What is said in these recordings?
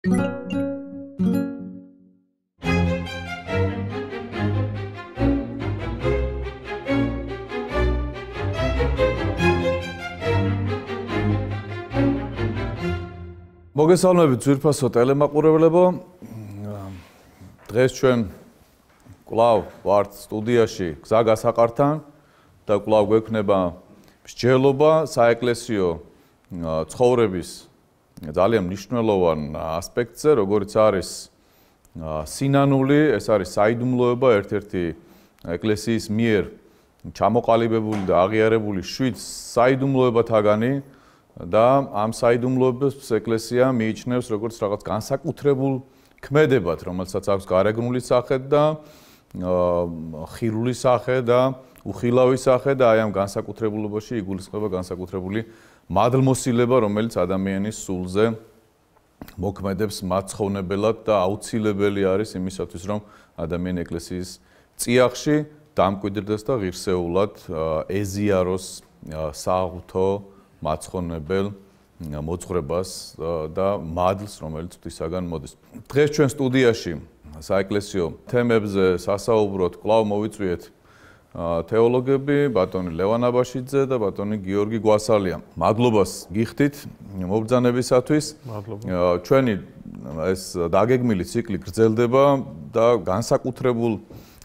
მოგესალმებით ძვირფასო ტელემაყურებლებო. დღეს ჩვენ კვლავ ვართ სტუდიაში გზა გასაყართან და კვლავ გვექნება მსჯელობა საეკლესიო ცხოვრების ძალიან მნიშვნელოვან ასპექტზე, როგორც არის სინანული, ეს არის საიდუმლოება, ერთ-ერთი ეკლესიის მიერ ჩამოყალიბებული და აღიარებული 7 საიდუმლოებათაგანი და ამ საიდუმლოებას ეკლესია მიიჩნევს როგორც რაღაც განსაკუთრებულ ქმედებად, რომელსაც აქვს გარეგნული სახე და ხილული სახე და უხილავი სახე და აი ამ განსაკუთრებულობაში იგულისხმება განსაკუთრებული მადლმოსილება, რომელიც ადამიანის სულზე მოქმედებს მაცხოვნებელად და აუცილებელი არის იმისათვის, რომ ადამიანი ეკლესიის წიაღში დამკვიდრდეს და ღირსეულად ეზიაროს საღვთო მაცხოვნებელ მოძღვრებას და მადლს, რომელიც ღვთისაგან მოდის. დღეს ჩვენ სტუდიაში საეკლესიო თემებზე სასაუბროდ კვლავ მოვიწვიეთ თეოლოგები, ბატონი ლევან აბაშიძე და ბატონი გიორგი გვასალია. მადლობას გიხდით მობრძანებისათვის. ჩვენი ეს დაგეგმილი ციკლი გრძელდება და განსაკუთრებულ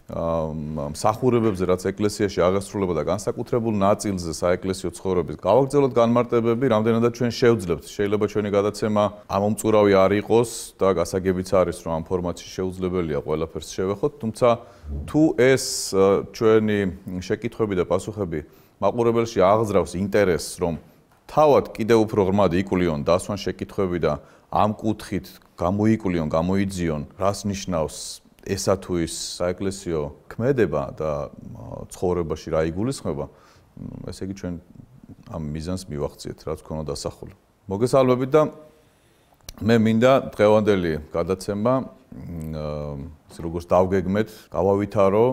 მსახურებებზე, რაც ეკლესიაში აღესრულება და განსაკუთრებულ ნაწილზე საეკლესიო ცხოვრების გავაგრძელოთ განმარტებები, რამდენადაც ჩვენ შევძლებთ. შეიძლება ჩვენი გადაცემა ამომწურავი არ იყოს და გასაგებიც არის, რომ ამ ფორმატში შეუძლებელია ყველაფერს შევეხოთ, თუმცა თუ ეს ჩვენი შეკითხვები და პასუხები მაყურებელში აღძრავს ინტერესს, რომ თავად კიდევ უფრო ღრმად იკვლიონ დასვან შეკითხვები და ამ კუთხით გამოიკვლიონ, გამოიძიონ, რას ნიშნავს ესა თუ ის საეკლესიო ქმედება და ცხოვრებაში რა იგულისხმება, ესე იგი ჩვენ ამ მიზანს მივახციეთ, რაც ქონა დასახული. მოგესალმებით და მე მინდა დღევანდელი გადაცემა როგორც დავგეგმეთ, გავავითარო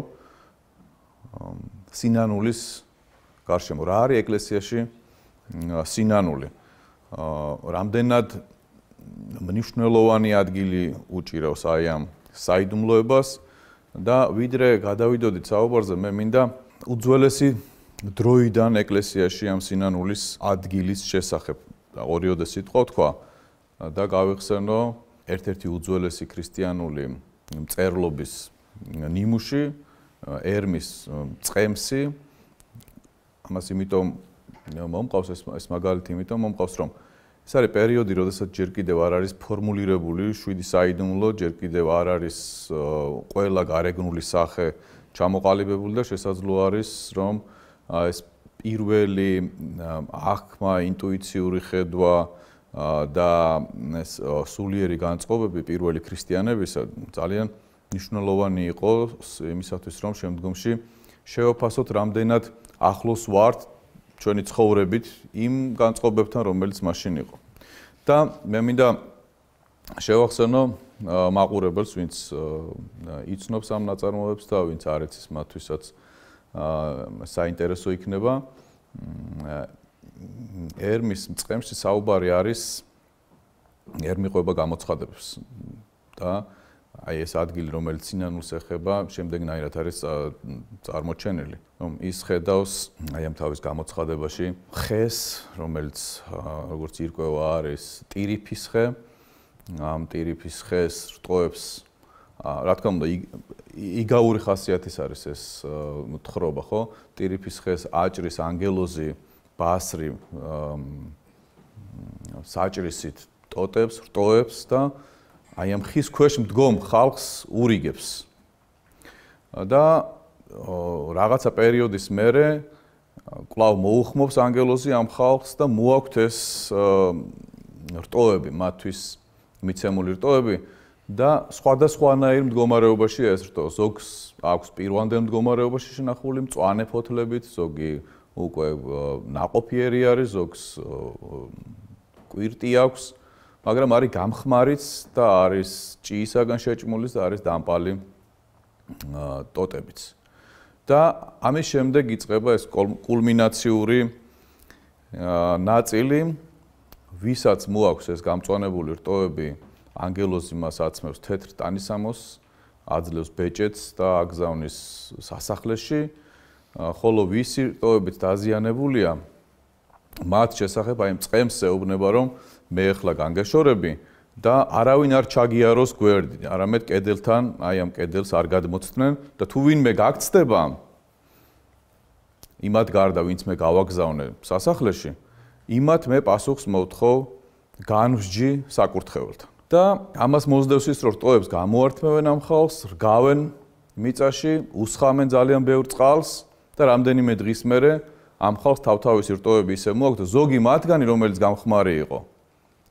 სინანულის გარშემო. რა არის ეკლესიაში სინანული? რამდენად მნიშვნელოვანი ადგილი უჭირავს აი ამ საიდუმლოებას და ვიდრე გადავიდოდით საუბარზე, მე მინდა უძველესი დროიდან ეკლესიაში ამ სინანულის ადგილის შესახებ ორიოდე სიტყვა თქვა და გავიხსენო ერთ-ერთი უძველესი ქრისტიანული მწერლობის ნიმუში, ერმის წყემსი. ამას იმიტომ მომყავს ეს მაგალითი, იმიტომ მომყავს, რომ ეს არის პერიოდი, როდესაც ჯერ კიდევ არ არის ფორმულირებული 7 საიდუმლო, ჯერ კიდევ არ არის ყველა გარეგნული სახე ჩამოყალიბებული და შესაძლო არის, რომ ეს პირველი აღქმა, ინტუიციური ხედვა და ეს სულიერი განწყობები პირველი ქრისტიანებისა ძალიან მნიშვნელოვანი იყო იმისათვის, რომ შემდგომში შევაფასოთ, რამდენად ახლოს ვართ ჩვენი ცხოვრებით იმ განწყობებთან, რომელიც მაშინ იყო. და მე მინდა შევახსენო მაყურებელს, ვინც იცნობს ამ ნაწარმოებებს და ვინც არ იცის, მათთვისაც საინტერესო იქნება. ერმის წყემსში საუბარი არის, ერმი ყვება გამოცხადებებს და აი ეს ადგილი, რომელიც სინანულს ეხება, შემდეგნაირად არის წარმოჩენილი, რომ ის ხედავს აი ამ თავის გამოცხადებაში ხეს, რომელიც როგორც ირკვევა არის ტირიფის ხე, ამ ტირიფის ხეს რტოებს, რა თქმა უნდა, იგაური ხასიათის არის ეს თხრობა, ხო? ტირიფის ხეს აჭრის ანგელოზი, ბასრი საჭრისით ტოტებს, რტოებს და აი ამ ხის ქვეშ მდგომ ხალხს ურიგებს. და რაღაცა პერიოდის მერე კვლავ მოუხმობს ანგელოზი ამ ხალხს და მოაქვთ ეს რტოები, მათთვის მიცემული რტოები და სხვადასხვანაირ მდგომარეობაში ეს რტო. ზოგს აქვს პირვანდელ მდგომარეობაში შენახული მწვანე ფოთლებით, ზოგი უკვე ნაყოფიერი არის, ზოგს კვირტი აქვს, მაგრამ არის გამხმარიც და არის ჭიისაგან შეჭმულის და არის დამპალი ტოტებიც. და ამის შემდეგ იწყება ეს კულმინაციური ნაწილი, ვისაც მოაქვს ეს გამწვანებული რტოები ანგელოზი მას აცმევს თეთრ ტანისამოს, აძლევს ბეჭედს და აგზავნის სასახლეში, ხოლო ვისი რტოებით დაზიანებულია, მათ შესახებ აი წყემს ეუბნება, რომ მე ახლა განგეშორები და არავინ არ ჩაგიაროს გვერდი, არამედ კედელთან, აი ამ კედელს არ გადმოცდნენ და თუ ვინმე გაგწდება იმათ გარდა, ვინც მე გავაგზავნე სასახლეში, იმათ მე პასუხს მოვთხოვ განვსჯი საკურთხეველთან. და ამას მოსდევს ის, რომ რტოებს გამოართმევენ ამ ხალხს, რგავენ მიწაში, უსხამენ ძალიან ბევრ წყალს და რამდენიმე დღის მერე ამ ხალხს თავთავისი რტოები ისე მოაქვს და ზოგი მათგანი, რომელიც გამხმარი იყო,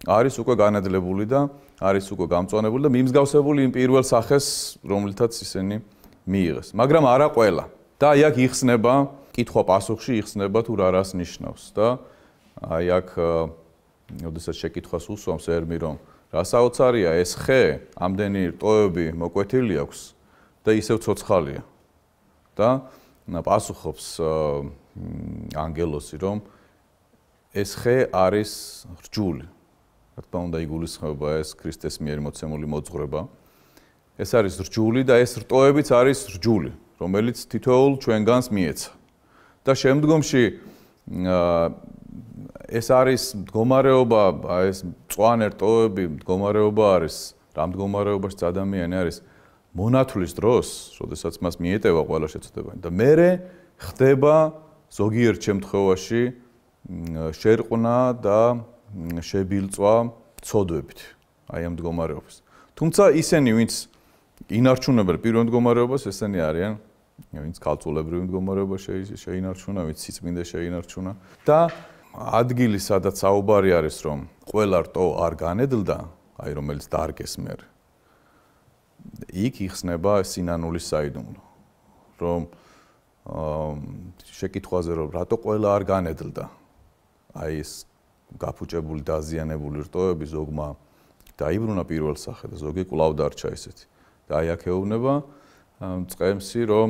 არის უკვე განადლებული და არის უკვე გამწვანებული და მიმსგავსებული იმ პირველ სახეს, რომლითაც ისინი მიიღეს. მაგრამ არა ყველა. და აი აქ იხსნება, კითხვა-პასუხში იხსნება თუ რა რას ნიშნავს და აი აქ როდესაც შეკითხვას უსვამს ერმი, რომ რა საოცარია ეს ხე, ამდენი რტოები მოკვეთილი აქვს და ისევ ცოცხალია. და პასუხობს ანგელოსი, რომ ეს ხე არის რჯული. რა თქმა უნდა, იგულისხმება ეს ქრისტეს მიერ მოცემული მოძღვრება. ეს არის რჯული და ეს რტოებიც არის რჯული, რომელიც თითოეულ ჩვენგანს მიეცა. და შემდგომში ეს არის მდგომარეობა, ეს მწვანე რტოები მდგომარეობა არის, რა მდგომარეობაში ადამიანი არის მონათვლის დროს, როდესაც მას მიეტევა ყველა შეცდომანი და მერე ხდება ზოგიერთ შემთხვევაში შერყნა და შებილწვა ცოდვებით, აი ამ მდგომარეობას. თუმცა ისინი, ვინც ინარჩუნებენ პირველ მდგომარეობას, ესენი არიან, ვინც ქალწულებრივ მდგომარეობაში შეინარჩუნა, ვინც სიწმინდე შეინარჩუნა და ადგილი, სადაც საუბარი არის, რომ ყველა რტო არ განედლდა, აი რომელიც დარგეს მერე. იქ იხსნება სინანულის საიდუმლო, რომ შეკითხვაზე, რომ რატო ყველა არ განედლდა, აი ეს გაფუჭებული, დაზიანებული რტოები ზოგმა დაიბრუნა პირველ სახე და ზოგი კვლავ დარჩა ისეთი. და აი აქ ეუბნება წყემსი, რომ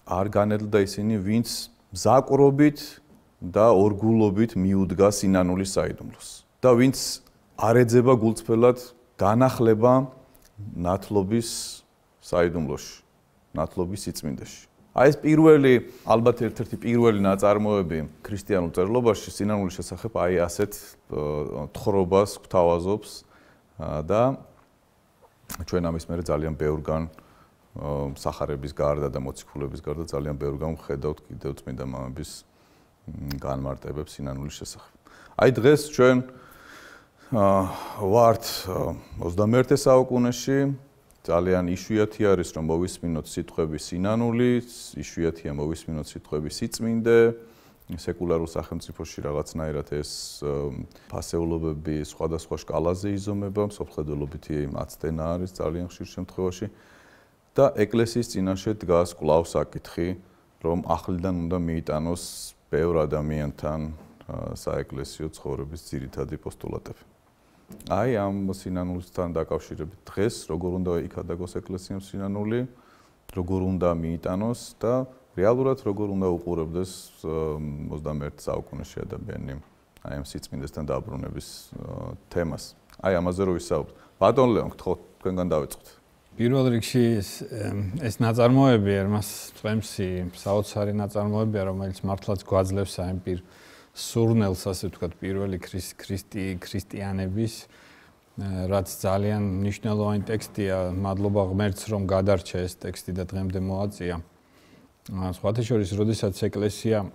არ განედლდა ისინი, ვინც მზაკვრობით და ორგულობით მიუდგა სინანულის საიდუმლოს. და ვინც არ ეძება გულწრფელად განახლება ნათლობის საიდუმლოში, ნათლობის სიწმინდეში. აი ეს პირველი, ალბათ ერთ-ერთი პირველი ნაწარმოები ქრისტიანულ წერლობაში სინანულის შესახებ აი ასეთ თხრობას გვთავაზობს და ჩვენ ამის მერე ძალიან ბევრგან სახარების გარდა და მოციქულების გარდა ძალიან ბევრგან ვხედავთ კიდევ წმინდა მამების განმარტებებს სინანულის შესახებ. აი დღეს ჩვენ ვართ 21 საუკუნეში, ძალიან იშვიათი არის, რომ მოვისმინოთ სიტყვები სინანული, იშვიათია მოვისმინოთ სიტყვები სიწმინდე, სეკულარულ სახელმწიფოში რაღაცნაირად ეს ფასეულობები სხვადასხვა სკალაზე იზომება, მსოფლმხედველობითი აცდენა არის ძალიან ხშირ შემთხვევაში და ეკლესიის წინაშე დგას კვლავ საკითხი, რომ ახლიდან უნდა მიიტანოს ბევრ ადამიანთან საეკლესიო ცხოვრების ძირითადი პოსტულატები. აი ამ სინანულთან დაკავშირებით დღეს როგორ უნდა იქადაგოს ეკლესიამ სინანული, როგორ უნდა მიიტანოს და რეალურად როგორ უნდა უყურებდეს 21 საუკუნეში ადამიანი აი ამ სიწმინდესთან დაბრუნების თემას. აი ამაზე რო ვისაუბროთ. ბატონ ლეონ, გთხოვთ თქვენგან დავიწყოთ. პირველ რიგში ეს ნაწარმოები ερμას წვემსი საოცარი ნაწარმოებია, რომელიც მართლაც გვაძლევს აი პირ სურნელს, ასე ვთქვათ, პირველი ქრისტიანების, რაც ძალიან მნიშვნელოვანი ტექსტია, მადლობა ღმერთს, რომ გადარჩა ეს ტექსტი და დღემდე მოაწია. სხვათა შორის, როდესაც ეკლესია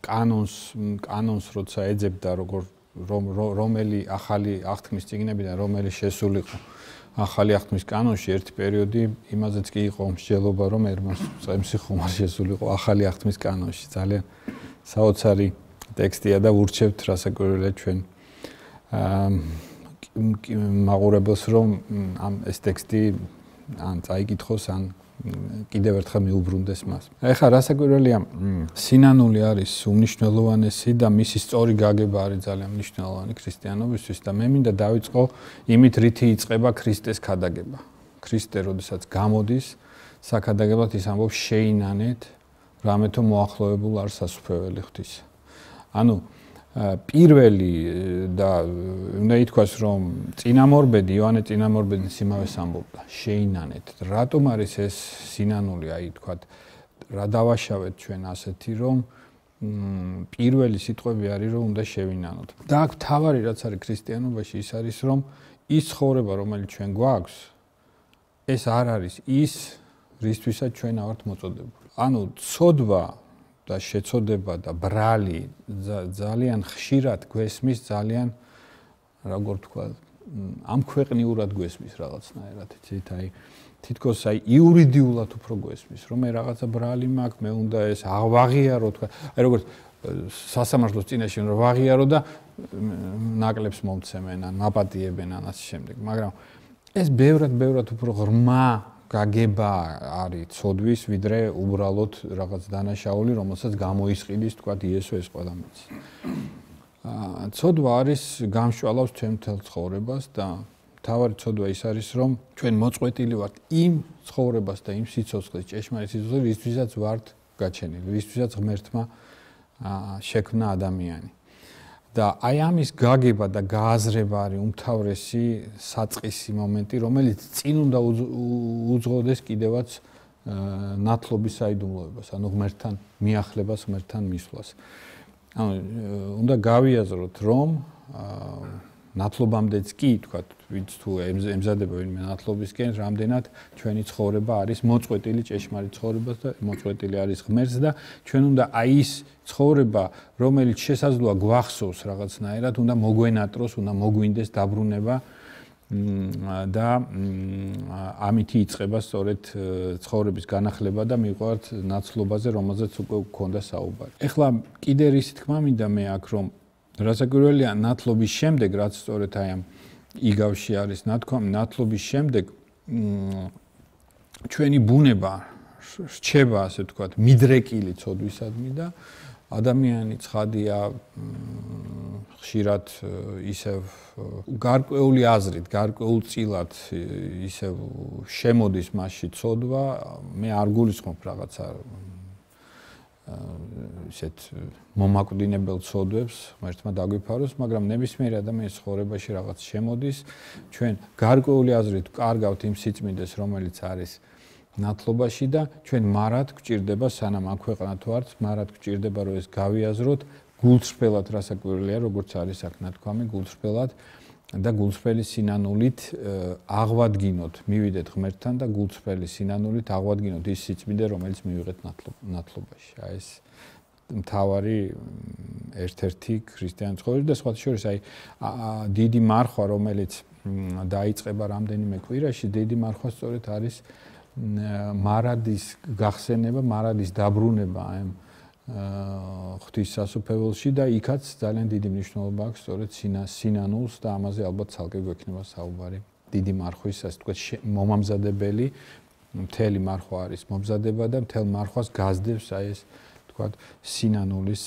კანონს როცა ეძებდა, რომელი ახალი აღთქმის წიგნებიდან რომელი შესულიყო ახალი აღთქმის კანონში, ერთი პერიოდი იმაზეც კი იყო მსჯელობა, რომ ερμას წემსი ხუმარ შესულიყო ახალი აღთქმის კანონში. ძალიან საოცარი ტექსტია და ვურჩევთ რასაკვირველია ჩვენ მაყურებელს, რომ ეს ტექსტი ან წაიკითხოს, ან კიდევ ერთხელ მიუბრუნდეს მას. ეხლა რასაკვირველია, სინანული არის უმნიშვნელოვანესი და მისი სწორი გაგება არის ძალიან მნიშვნელოვანი ქრისტიანობისთვის და მე მინდა დავიწყო იმით, რითი იწყება ქრისტეს ქადაგება. ქრისტე, როდესაც გამოდის საქადაგებლად, ის ამბობს შეინანეთ, რამეთო მოახლოებულ არ სასუფეველი ღვთის. ანუ პირველი და უნდა ითქვას, რომ წინამორბედი, იოანე წინამორბედის იმავეს ამბობდა, შეინანეთ. რატომ არის ეს სინანული, აი თქვათ, რა დავაშავეთ ჩვენ ასეთი, რომ პირველი სიტყვები არის, რომ უნდა შევინანოთ. და აქ თავარი რაც არის ქრისტიანობაში, ის არის, რომ ის ცხოვრება, რომელიც ჩვენ გვაქვს, ეს არ არის ის, რისთვისაც ჩვენ ავართ მოწოდებული. ანუ ცოდვა და შეწოდება და ბრალი ძალიან ხშირად გვესმის, ძალიან როგორ თქვა, ამ ქვეყნიურად გვესმის რაღაცნაირად, იცით, აი თითქოს აი იურიდიულად უფრო გვესმის, რომ მე რაღაცა ბრალი მაქვს, მე უნდა ეს ვაღიარო, თქვა, აი როგორც სასამართლოს წინაშე რომ ვაღიარო და ნაკლებს მომცემენ, ან მაპატიებენ ან ასე შემდეგ, მაგრამ ეს ბევრად უფრო ღრმა გაგება არის ცოდვის, ვიდრე უბრალოდ რაღაც დანაშაული, რომელსაც გამოისყიდის, თქვა, იესო ეს ყველა მის. ცოდვა არის გამშვალავს ჩვენ მთელ ცხოვრებას და თავარი ცოდვა ის არის, რომ ჩვენ მოწყვეტილი ვართ იმ ცხოვრებას და იმ სიცოცხლის, ჭეშმარიტ სიცოცხლეს, რისთვისაც ვართ გაჩენილი, რისთვისაც ღმერთმა შექმნა ადამიანი. და აი ამის გაგება და გააზრება არის უმთავრესი საწყისი მომენტი, რომელიც წინ უნდა უძღოდეს კიდევაც ნათლობის საიდუმლოებას, ანუ ღმერთთან მიახლებას, ღმერთთან მისვლას. ანუ უნდა გავიაზროთ, რომ ნათლობამდეც კი, თქვა, ვინც თუ ემზადება ვინმე ნათლობისკენ, რამდენად ჩვენი ცხოვრება არის მოწყვეტილი ჭეშმარიტ ცხოვრებას და მოწყვეტილი არის ღმერთს და ჩვენ უნდა აი ის ცხოვრება, რომელიც შესაძლოა გვახსოვს რაღაცნაირად, უნდა მოგვენატროს, უნდა მოგვინდეს დაბრუნება და ამითი იწყება სწორედ ცხოვრების განახლება და მიყვართ ნაცლობაზე, რომელზეც უკვე გქონდა საუბარი. ეხლა კიდე რისი თქმა მინდა მე აქ, რომ რასაკვირველია, ნათლობის შემდეგ, რაც სწორედ აი ამ იგავში არის ნათქვამი, ნათლობის შემდეგ ჩვენი ბუნება რჩება, ასე ვთქვათ, მიდრეკილი ცოდვისადმი და ადამიანი ცხადია ხშირად ისევ გარკვეული აზრით, გარკვეულწილად ისევ შემოდის მასში ცოდვა, მე არ გულისხმობ რაღაცა ისეთ მომაკვდინებელ ცოდვებს, ღმერთმა დაგვიფაროს, მაგრამ ნებისმიერი ადამიანის ცხოვრებაში რაღაც შემოდის, ჩვენ გარკვეული აზრით ვკარგავთ იმ სიწმინდეს, რომელიც არის ნათლობაში და ჩვენ მარად გვჭირდება, სანამ ამ ქვეყანათ ვართ, მარად გვჭირდება, რომ ეს გავიაზროთ გულწრფელად, რასაკვირველია, როგორც არის აქ ნათქვამი, გულწრფელად და გულწრფელი სინანულით აღვადგინოთ, მივიდეთ ღმერთთან და გულწრფელი სინანულით აღვადგინოთ ის სიწმინდე, რომელიც მივიღეთ ნათლობაში. აი ეს მთავარი ერთ-ერთი ქრისტიანი ცხოვრება და სხვათა შორის აი დიდი მარხვა, რომელიც დაიწყება რამდენიმე კვირაში, დიდი მარხვა სწორედ არის მარადის გახსენება, მარადის დაბრუნება ამ ღვთის სასუფეველში და იქაც ძალიან დიდი მნიშვნელობა აქვს სწორედ სინანულს და ამაზე ალბათ ცალკე გვექნება საუბარი. დიდი მარხვის, ასე ვთქვათ, მომამზადებელი მთელი მარხვა არის მომზადება და მთელ მარხვას გასდევს აი ეს ვთქვათ სინანულის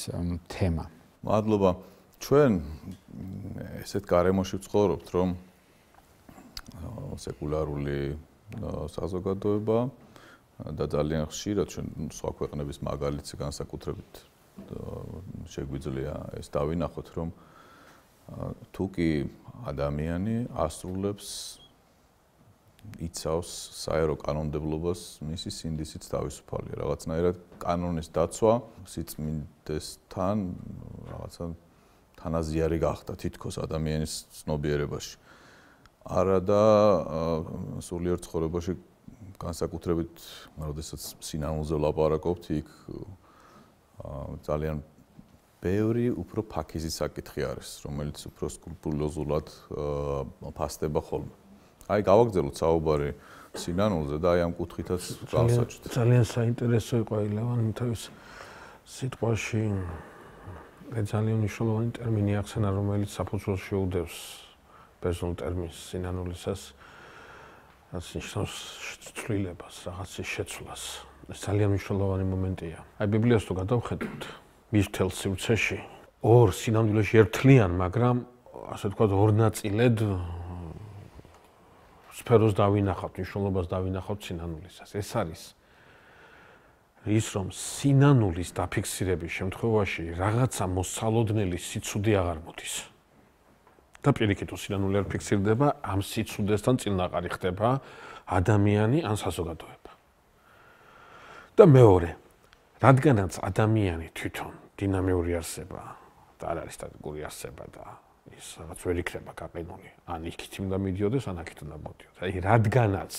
თემა. მადლობა. ჩვენ ესეთ გარემოში ვცხოვრობთ, რომ სეკულარული საზოგადოება და ძალიან ხშირად ჩვენ სხვა ქვეყნების მაგალითზე განსაკუთრებით შეგვიძლია ეს დავინახოთ, რომ თუ კი ადამიანი ასრულებს იცავს საერო კანონმდებლობას, მისი სინდისიც თავისუფალია. რაღაცნაირად კანონის დაცვა სიწმინდესთან რაღაცა თანაზიარი გახდა თითქოს ადამიანის ცნობიერებაში. არა და სულიერ ცხოვრებაში განსაკუთრებით, როდესაც სინანულზე ვლაპარაკობთ, იქ ძალიან ბევრი უფრო ფაქიზი საკითხი არის, რომელიც უფრო სკრუპულოზულად ფასდება ხოლმე. აი გავაგრძელოთ საუბარი სინანულზე და აი ამ კუთხითაც გავსაჩვდით. ძალიან საინტერესო იყო ლევან თავის სიტყვაში ძალიან მნიშვნელოვანი ტერმინი ახსენა, რომელიც საფუძველს შეუდევს პერსონალ ტერმინს სინანულისას, რაც ნიშნავს ცვლილებას, რაღაცის შეცვლას. ეს ძალიან მნიშვნელოვანი მომენტია. აი ბიბლიას თუ გადავხედოთ, მის მთელ სივრცეში ორ სინამდვილეში ერთლიან, მაგრამ ასე ვთქვათ, ორ ნაწილად სფეროს დავინახავთ, მნიშვნელობას დავინახავთ სინანულისას. ეს არის ის რომ სინანულის დაფიქსირების შემთხვევაში რაღაცა მოსალოდნელი სიცუდი აღარ მოდის. და პირიქით სინანული არ ფიქსირდება, ამ სიცუდესთან წინაყარი ხდება ადამიანი ან საზოგადოება. და მეორე, რადგანაც ადამიანი თვითონ დინამიური არსება და არ არის სტატიკური არსება და ის რაღაც ვერ იქნება გაყინული, ან იქით უნდა მიდიოდეს, ან აქით უნდა მოდიოდეს. აი, რადგანაც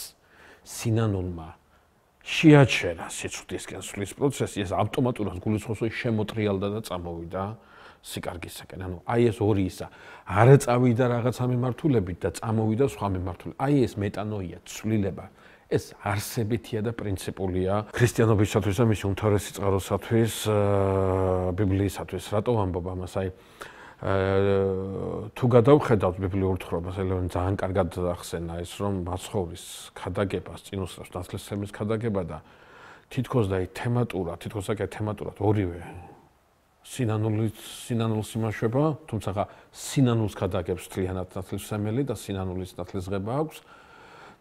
სინანულმა შეაჩერა სიცუდისკენ სვლის პროცესი, ეს ავტომატურად გულისხმობს, რომ შემოტრიალდა და წამოვიდა სიკარგისაკენ. ანუ აი ეს ორი ისა, არ წავიდა რაღაცა მიმართულებით და წამოვიდა სხვა მიმართულებით. აი ეს მეტანოია, ცვლილება, ეს არსებითია და პრინციპულია ქრისტიანობისათვის და მისი უმთავრესი წყაროსათვის, ბიბლიისათვის. რატო ვამბობ ამას? აი თუ გადავხედავთ ბიბლიურ თხრობას, ელევან ძალიან კარგად ახსენა ის, რომ მაცხოვრის ქადაგებას წინ უსწრებს ნათლისმცემლის ქადაგება და თითქოს და თემატურად ორივე სინანულს იმაშვება, თუმცა სინანულს ქადაგებს მთლიანად ნათლისმცემელი და სინანულის ნათლისღება აქვს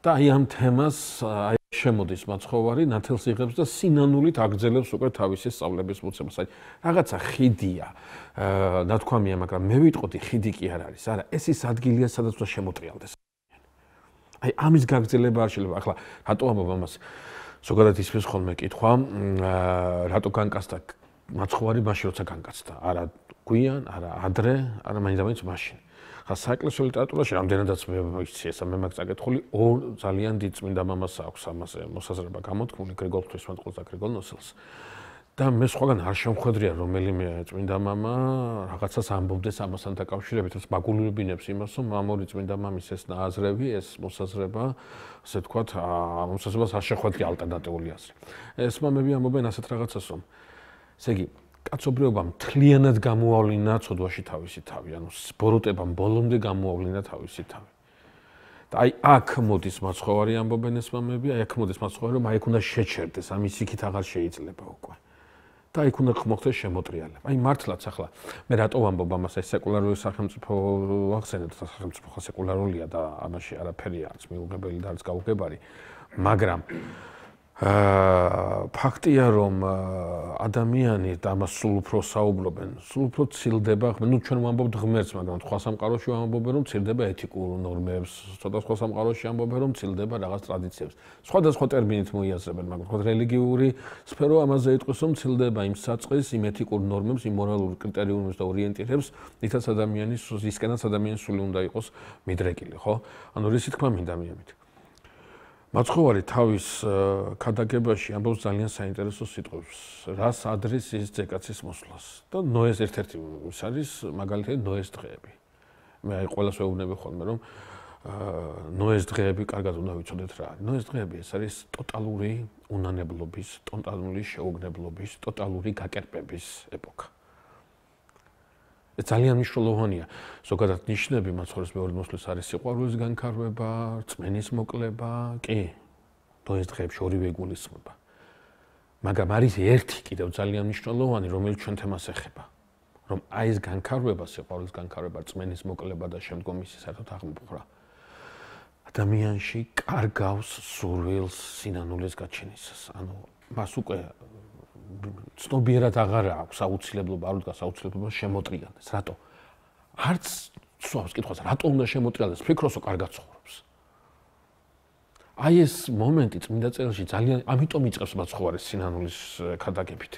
და აი ამ თემას აი შემოდის მაცხოვარი, ნათელს იღებს და სინანულით აგრძელებს უკვე თავისი სწავლების მოცემას. აი რაღაცა ხიდია, ნათქვამია, მაგრამ მე ვიტყოდი ხიდი კი არ არის. არა, ეს ის ადგილია, სადაც უნდა შემოტრიალდეს. აი ამის გაგრძელება არ შეიძლება. ახლა რატო ამბობ ამას? ზოგადად ისმის ხოლმე კითხვა, რატო განკაცდა მაცხოვარი მაშინ როცა განკაცდა, არა გვიან, არა ადრე, არა მაინც მაშინ. ხა საეკლესიო ლიტერატურაში რამდენადაც მე ვიცი ესა მე მაგ წაკითხული ორ ძალიან დიდ წმინდა მამას აქვს ამაზე მოსაზრება გამოთქმული გრიგოლ ღვთისმეტყველს და გრიგოლ ნოსელს. და მე სხვაგან არ შემხვედრია რომელიმე წმინდა მამა რაღაცას ამბობდეს ამასთან დაკავშირებით, რაც მაგულებინებს იმას, რომ ამ ორი წმინდა მამის ეს ნააზრევი, ეს მოსაზრება, ასე ვთქვათ, მოსაზრებას არ შეხვედრია ალტერნატიული აზრი. ეს მამები ამბობენ ასეთ რაღაცას, რომ ესე იგი კაცობრიობამ მთლიანად გამოავლინა ცოდვაში თავისი თავი, ანუ ბოროტებამ ბოლომდე გამოავლინა თავისი თავი. და აი აქ მოდის მაცხოვარი ამბობენ ეს მამები, აი აქ მოდის მაცხოვარი, რომ აი აქ უნდა შეჩერდეს, ამის იქით აღარ შეიძლება უკვე. და იქ უნდა მოხდეს შემოტრიალება. აი მართლაც ახლა მე რატო ვამბობ ამას, აი სეკულარული სახელმწიფო ახსენეთ, სახელმწიფო სეკულარულია და ამაში არაფერია არც მიუღებელი და არც გაუგებარი, მაგრამ ფაქტია რომ ადამიანი და ამას სულ უფრო საუბრობენ, სულ უფრო ცილდება, ნუ ჩვენ ვამბობთ ღმერთს, მაგრამ სხვა სამყაროში ვამბობენ რომ ცილდება ეთიკურ ნორმებს, ცოტა სხვა სამყაროში ამბობენ რომ ცილდება რაღაც ტრადიციებს. სხვადასხვა ტერმინით მოიაზრებენ, მაგრამ ხო რელიგიური სფერო ამაზე იტყვის რომ ცილდება იმ საწყის, იმ ეთიკურ ნორმებს, იმ მორალურ კრიტერიუმებს და ორიენტირებს, რითაც ადამიანის ისკენაც ადამიანის სული უნდა იყოს მიდრეკილი, ხო? ანუ რისი თქმა მინდა მიამით. მაცხოვარი თავის ქადაგებაში ამბობს ძალიან საინტერესო სიტყვებს, რას ადრის ის ძეკაცის მოსვლას და ნოეს ერთ-ერთი ის არის მაგალითად ნოეს დღეები. მე აი ყველას ვეუბნები ხოლმე რომ ნოეს დღეები კარგად უნდა ვიცოდეთ რა არის. ნოეს დღეები ეს არის ტოტალური უნანებლობის, ტოტალური შეუგნებლობის, ტოტალური გაკერპების ეპოქა. ეს ძალიან მნიშვნელოვანია. ზოგადად ნიშნები მაცხოვრის მეორე მოსვლის არის სიყვარულის განქარვება, რწმენის მოკლება, კი, ნოეს დღეებში ორივე იგულისხმება. მაგრამ არის ერთი კიდევ ძალიან მნიშვნელოვანი, რომელიც ჩვენ თემას ეხება, რომ აი ეს განქარვება, სიყვარულის განქარვება, რწმენის მოკლება და შემდგომ ისი საერთოდ აღმოფხვრა ადამიანში კარგავს სურვილს სინანულის გაჩენისას. ანუ მას უკვე ცნობიერად აღარ აქვს აუცილებლობა, არ უდგას აუცილებლობა შემოტრიალდეს. რატო? არც სვავს კითხვას, რატო უნდა შემოტრიალდეს? ფიქრობს, რომ კარგად ცხოვრობს. აი ეს მომენტი წმინდა წერილში ძალიან, ამიტომ იწყებს მაცხოვარის სინანულის ქადაგებით.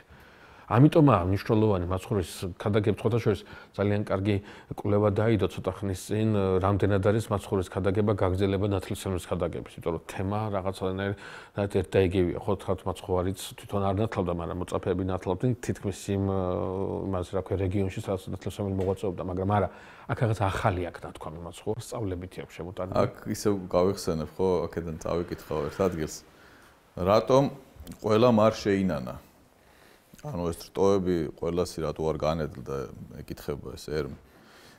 ამიტომაა მნიშვნელოვანი მაცხოვრის ქადაგების ხოთაშორის ძალიან კარგი კვლევა დაიდო ცოტა ხნის წინ, რამდენად არის მაცხოვრის ქადაგება გაგრძელება ნათლისმცემლის ქადაგების, იმიტომ რომ თემა რაღაცნაირად ერთ და იგივეა, ხო თქვათ მაცხოვარიც თვითონ არ ნათლავდა, მაგრამ მოწაფეები ნათლავდნენ თითქმის იმას რა ქვია რეგიონში, სადაც ნათლისმცემელი მოღვაწეობდა, მაგრამ არა, აქ რაღაც ახალი აქ ნათქვამი მაცხოვრის სწავლებითი აქვს შემოტანილი. აქ ისევ გავიხსენებ, ხო, აქედან წავიკითხავ ერთ ადგილს. რატომ ყველამ არ შეინანა? ანუ ეს რტოები ყველასი რატო არ განედლდა ეკითხება ეს ერმი.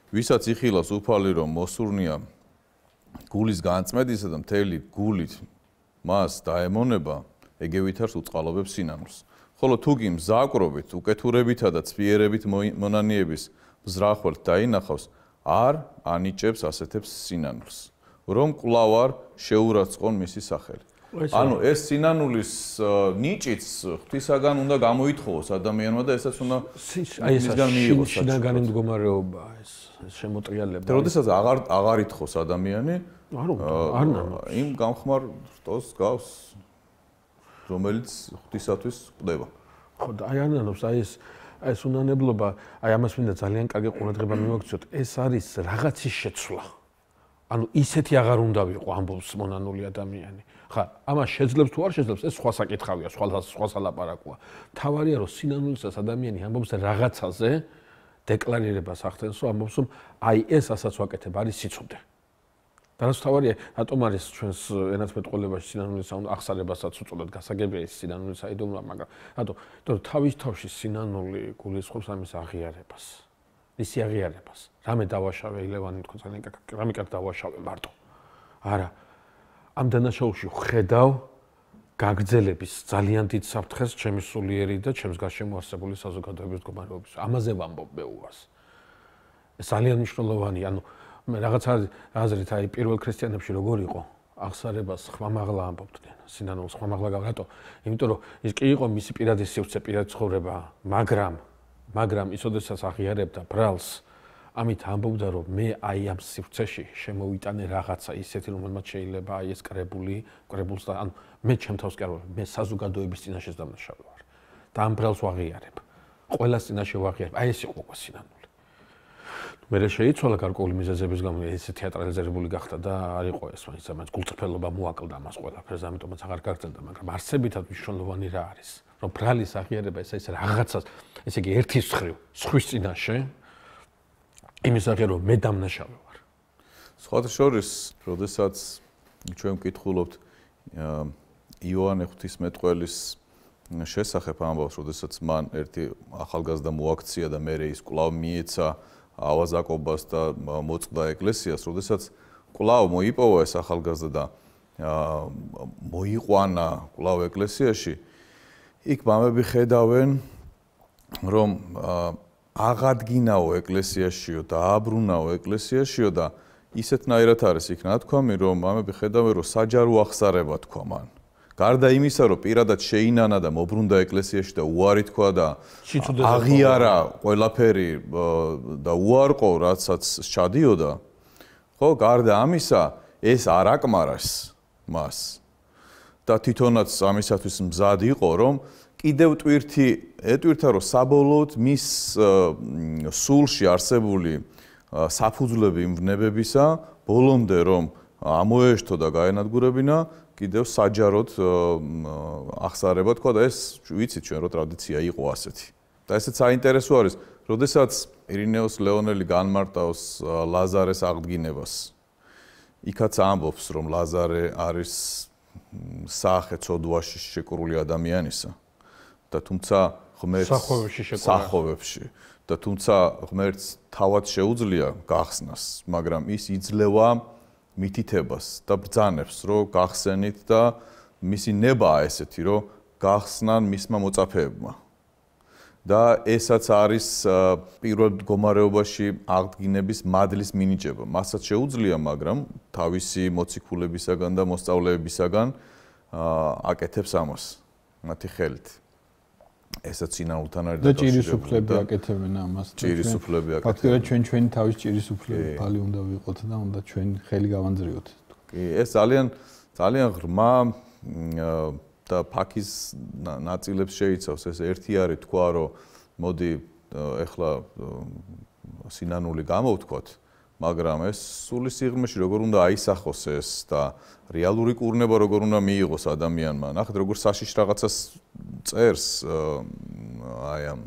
ვისაც იხილავს უფალი რომ მოსურნია გულის განწმედისა და მთელი გულით მას დაემონება, ეგევითარს უწყალობებს სინანულს. ხოლო თუ კი მზაკრობით, უკეთურებითა და ცვიერებით მონანიების მზრახველთ დაინახავს, არ ანიჭებს ასეთებს სინანულს, რომ კვლავ არ შეურაცხყონ მისი სახელი. ანუ ეს სინანულის ნიჭიც ღვთისაგან უნდა გამოითხოვოს ადამიანმა და ესაც უნდა მისგან მიიღოს შინაგანი მდგომარეობა ეს შემოტრიალება. როდესაც აღარ ითხოვს ადამიანი, არ იმ გამხმარ რტოს გავს, რომელიც ღვთისათვის ყდება. ხო და აი ანანობს ეს უნანებლობა, აი ამას მინდა ძალიან კარგი ყურადღება მივაქციოთ. ეს არის რაღაცის შეცვლა. ანუ ისეთი აღარ უნდა ვიყო ამბობს მონანული ადამიანი. ხა, ამას შეძლებს თუ არ შეძლებს, ეს სხვა საკითხავია, სხვა სალაპარაკოა. თავარია რომ სინანულისას ადამიანი ამბობს რაღაცაზე, დეკლარირებას ახდენს, რომ ამბობს რომ აი ეს ასაც ვაკეთებ, არის სიცოცხლე. და რაც თავარია, რატომ არის ჩვენს ენათმეტყველებაში სინანულის აღსარებასაც უწოდოთ გასაგებია ის სინანულის აიდუმლობა, მაგრამ რატო? იმიტომ რომ თავის თავში სინანული გულისხმობს ამის აღიარებას. მისი აღიარებას. რამე დავაშავე ილევანი თქო ძალიან კარგი, რამე კარგი დავაშავე მარტო. არა. ამ დანაშაულში ხედავ გაგრძელების ძალიან დიდ საფრთხეს ჩემი სულიერი და ჩემს გარშემო არსებული საზოგადოების მდგომარეობის. ამაზე ვამბობ მეუვას. ეს ძალიან მნიშვნელოვანია, ანუ მე რაღაცა აზრით აი პირველ ქრისტიანებში როგორ იყო აღსარებას ხმამაღლა ამბობდნენ სინანულს ხმამაღლა რატო? იმიტომ რომ ის კი იყო მისი პირადი სივრცე, პირადი ცხოვრება, მაგრამ ის ოდესაც აღიარებდა ბრალს, ამით ამბობდა რომ მე აი ამ სივრცეში შემოვიტანე რაღაცა ისეთი რომელმაც შეიძლება აი ეს კრებულს და ანუ მე ჩემ თავს კი არ ვარ, მე საზოგადოების წინაშე დამნაშავე ვარ და ამ ბრალს ვაღიარებ. ყველას წინაშე ვაღიარებ. აი ეს იყო სინანული. მე შეიცვალა გარკვეული მიზეზების გამო ეს თეატრალიზებული გახდა და არ იყო ეს მაინც გულწრფელობა მოაკლდა მას ყველაფერს, ამიტომაც აღარ გაგრძელდა, მაგრამ არსებითად მნიშვნელოვანი რა არის, რომ ბრალის აღიარება ეს რაღაცას, ესე იგი ერთის მხრივ, სხვის წინაშე იმის აღიარება რომ მე დამნაშავე ვარ. სხვათა შორის, როდესაც ჩვენ ვკითხულობთ იოანე ღვთისმეტყველის შესახებ ამბავს, როდესაც მან ერთი ახალგაზრდა მოაქცია და მერე ის კვლავ მიეცა ავაზაკობას და მოწყდა ეკლესიას, როდესაც კვლავ მოიპოვა ეს ახალგაზრდა და მოიყვანა კვლავ ეკლესიაში, იქ მამები ხედავენ, რომ აღადგინაო ეკლესიაშიო და აბრუნაო ეკლესიაშიო და ისეთნაირად არის იქ ნათქვამი, რომ მამები ხედავენ, რომ საჯარო ახსარება თქვა მან. გარდა იმისა, რომ პირადად შეინანა და მობრუნდა ეკლესიაში და უარი თქვა და აღიარა ყველაფერი და უარყო, რაცაც ჩადიოდა, ხო, გარდა ამისა, ეს არ აკმარეს მას. და თვითონაც ამისათვის მზად იყო, რომ კიდევ ეტვირთა, რომ საბოლოოდ მის სულში არსებული საფუძვლები იმვნებებისა, ბოლომდე რომ ამოეშთო და გაენადგურებინა, კიდევ საჯაროდ ახსარება თქვა და ეს ვიცით ჩვენ რომ ტრადიცია იყო ასეთი. და ესეც საინტერესო არის, როდესაც ირინეოს ლეონელი განმარტავს ლაზარეს აღდგინებას. იქაც ამბობს, რომ ლაზარე არის საახე ცოდვაში შეკრული ადამიანისა და თუმცა ღმერთს სახოვებში და თუმცა ღმერთს თავად შეუძლია გახსნას, მაგრამ ის იძლევა მითითებას და ბრძანებს, რომ გახსენით და მისი ნებაა ესეთი, რომ გახსნან მისმა მოწაფეებმა. და ესაც არის პირველ მდგომარეობაში აღდგინების მადლის მინიჭება. მასაც შეუძლია, მაგრამ თავისი მოციქულებისაგან და მოსწავლეებისაგან აკეთებს ამას მათი ხელით. ესაც სინანულთან არის და ჭირისუფლები აკეთებენ ამას. ჭირისუფლები აკეთებენ. ფაქტობრივად ჩვენი თავის ჭირისუფლები ბალი უნდა ვიყოთ და უნდა ჩვენ ხელი გავანძრიოთ. კი, ეს ძალიან ღრმა და ფაქის ნაწილებს შეიცავს. ეს ერთი არის თქვა, რომ მოდი ეხლა სინანული გამოვთქვათ, მაგრამ ეს სული სიღრმეში როგორ უნდა აისახოს ეს და რეალური კურნება როგორ უნდა მიიღოს ადამიანმა. ნახეთ, როგორ საშიშ რაღაცას წერს აი ამ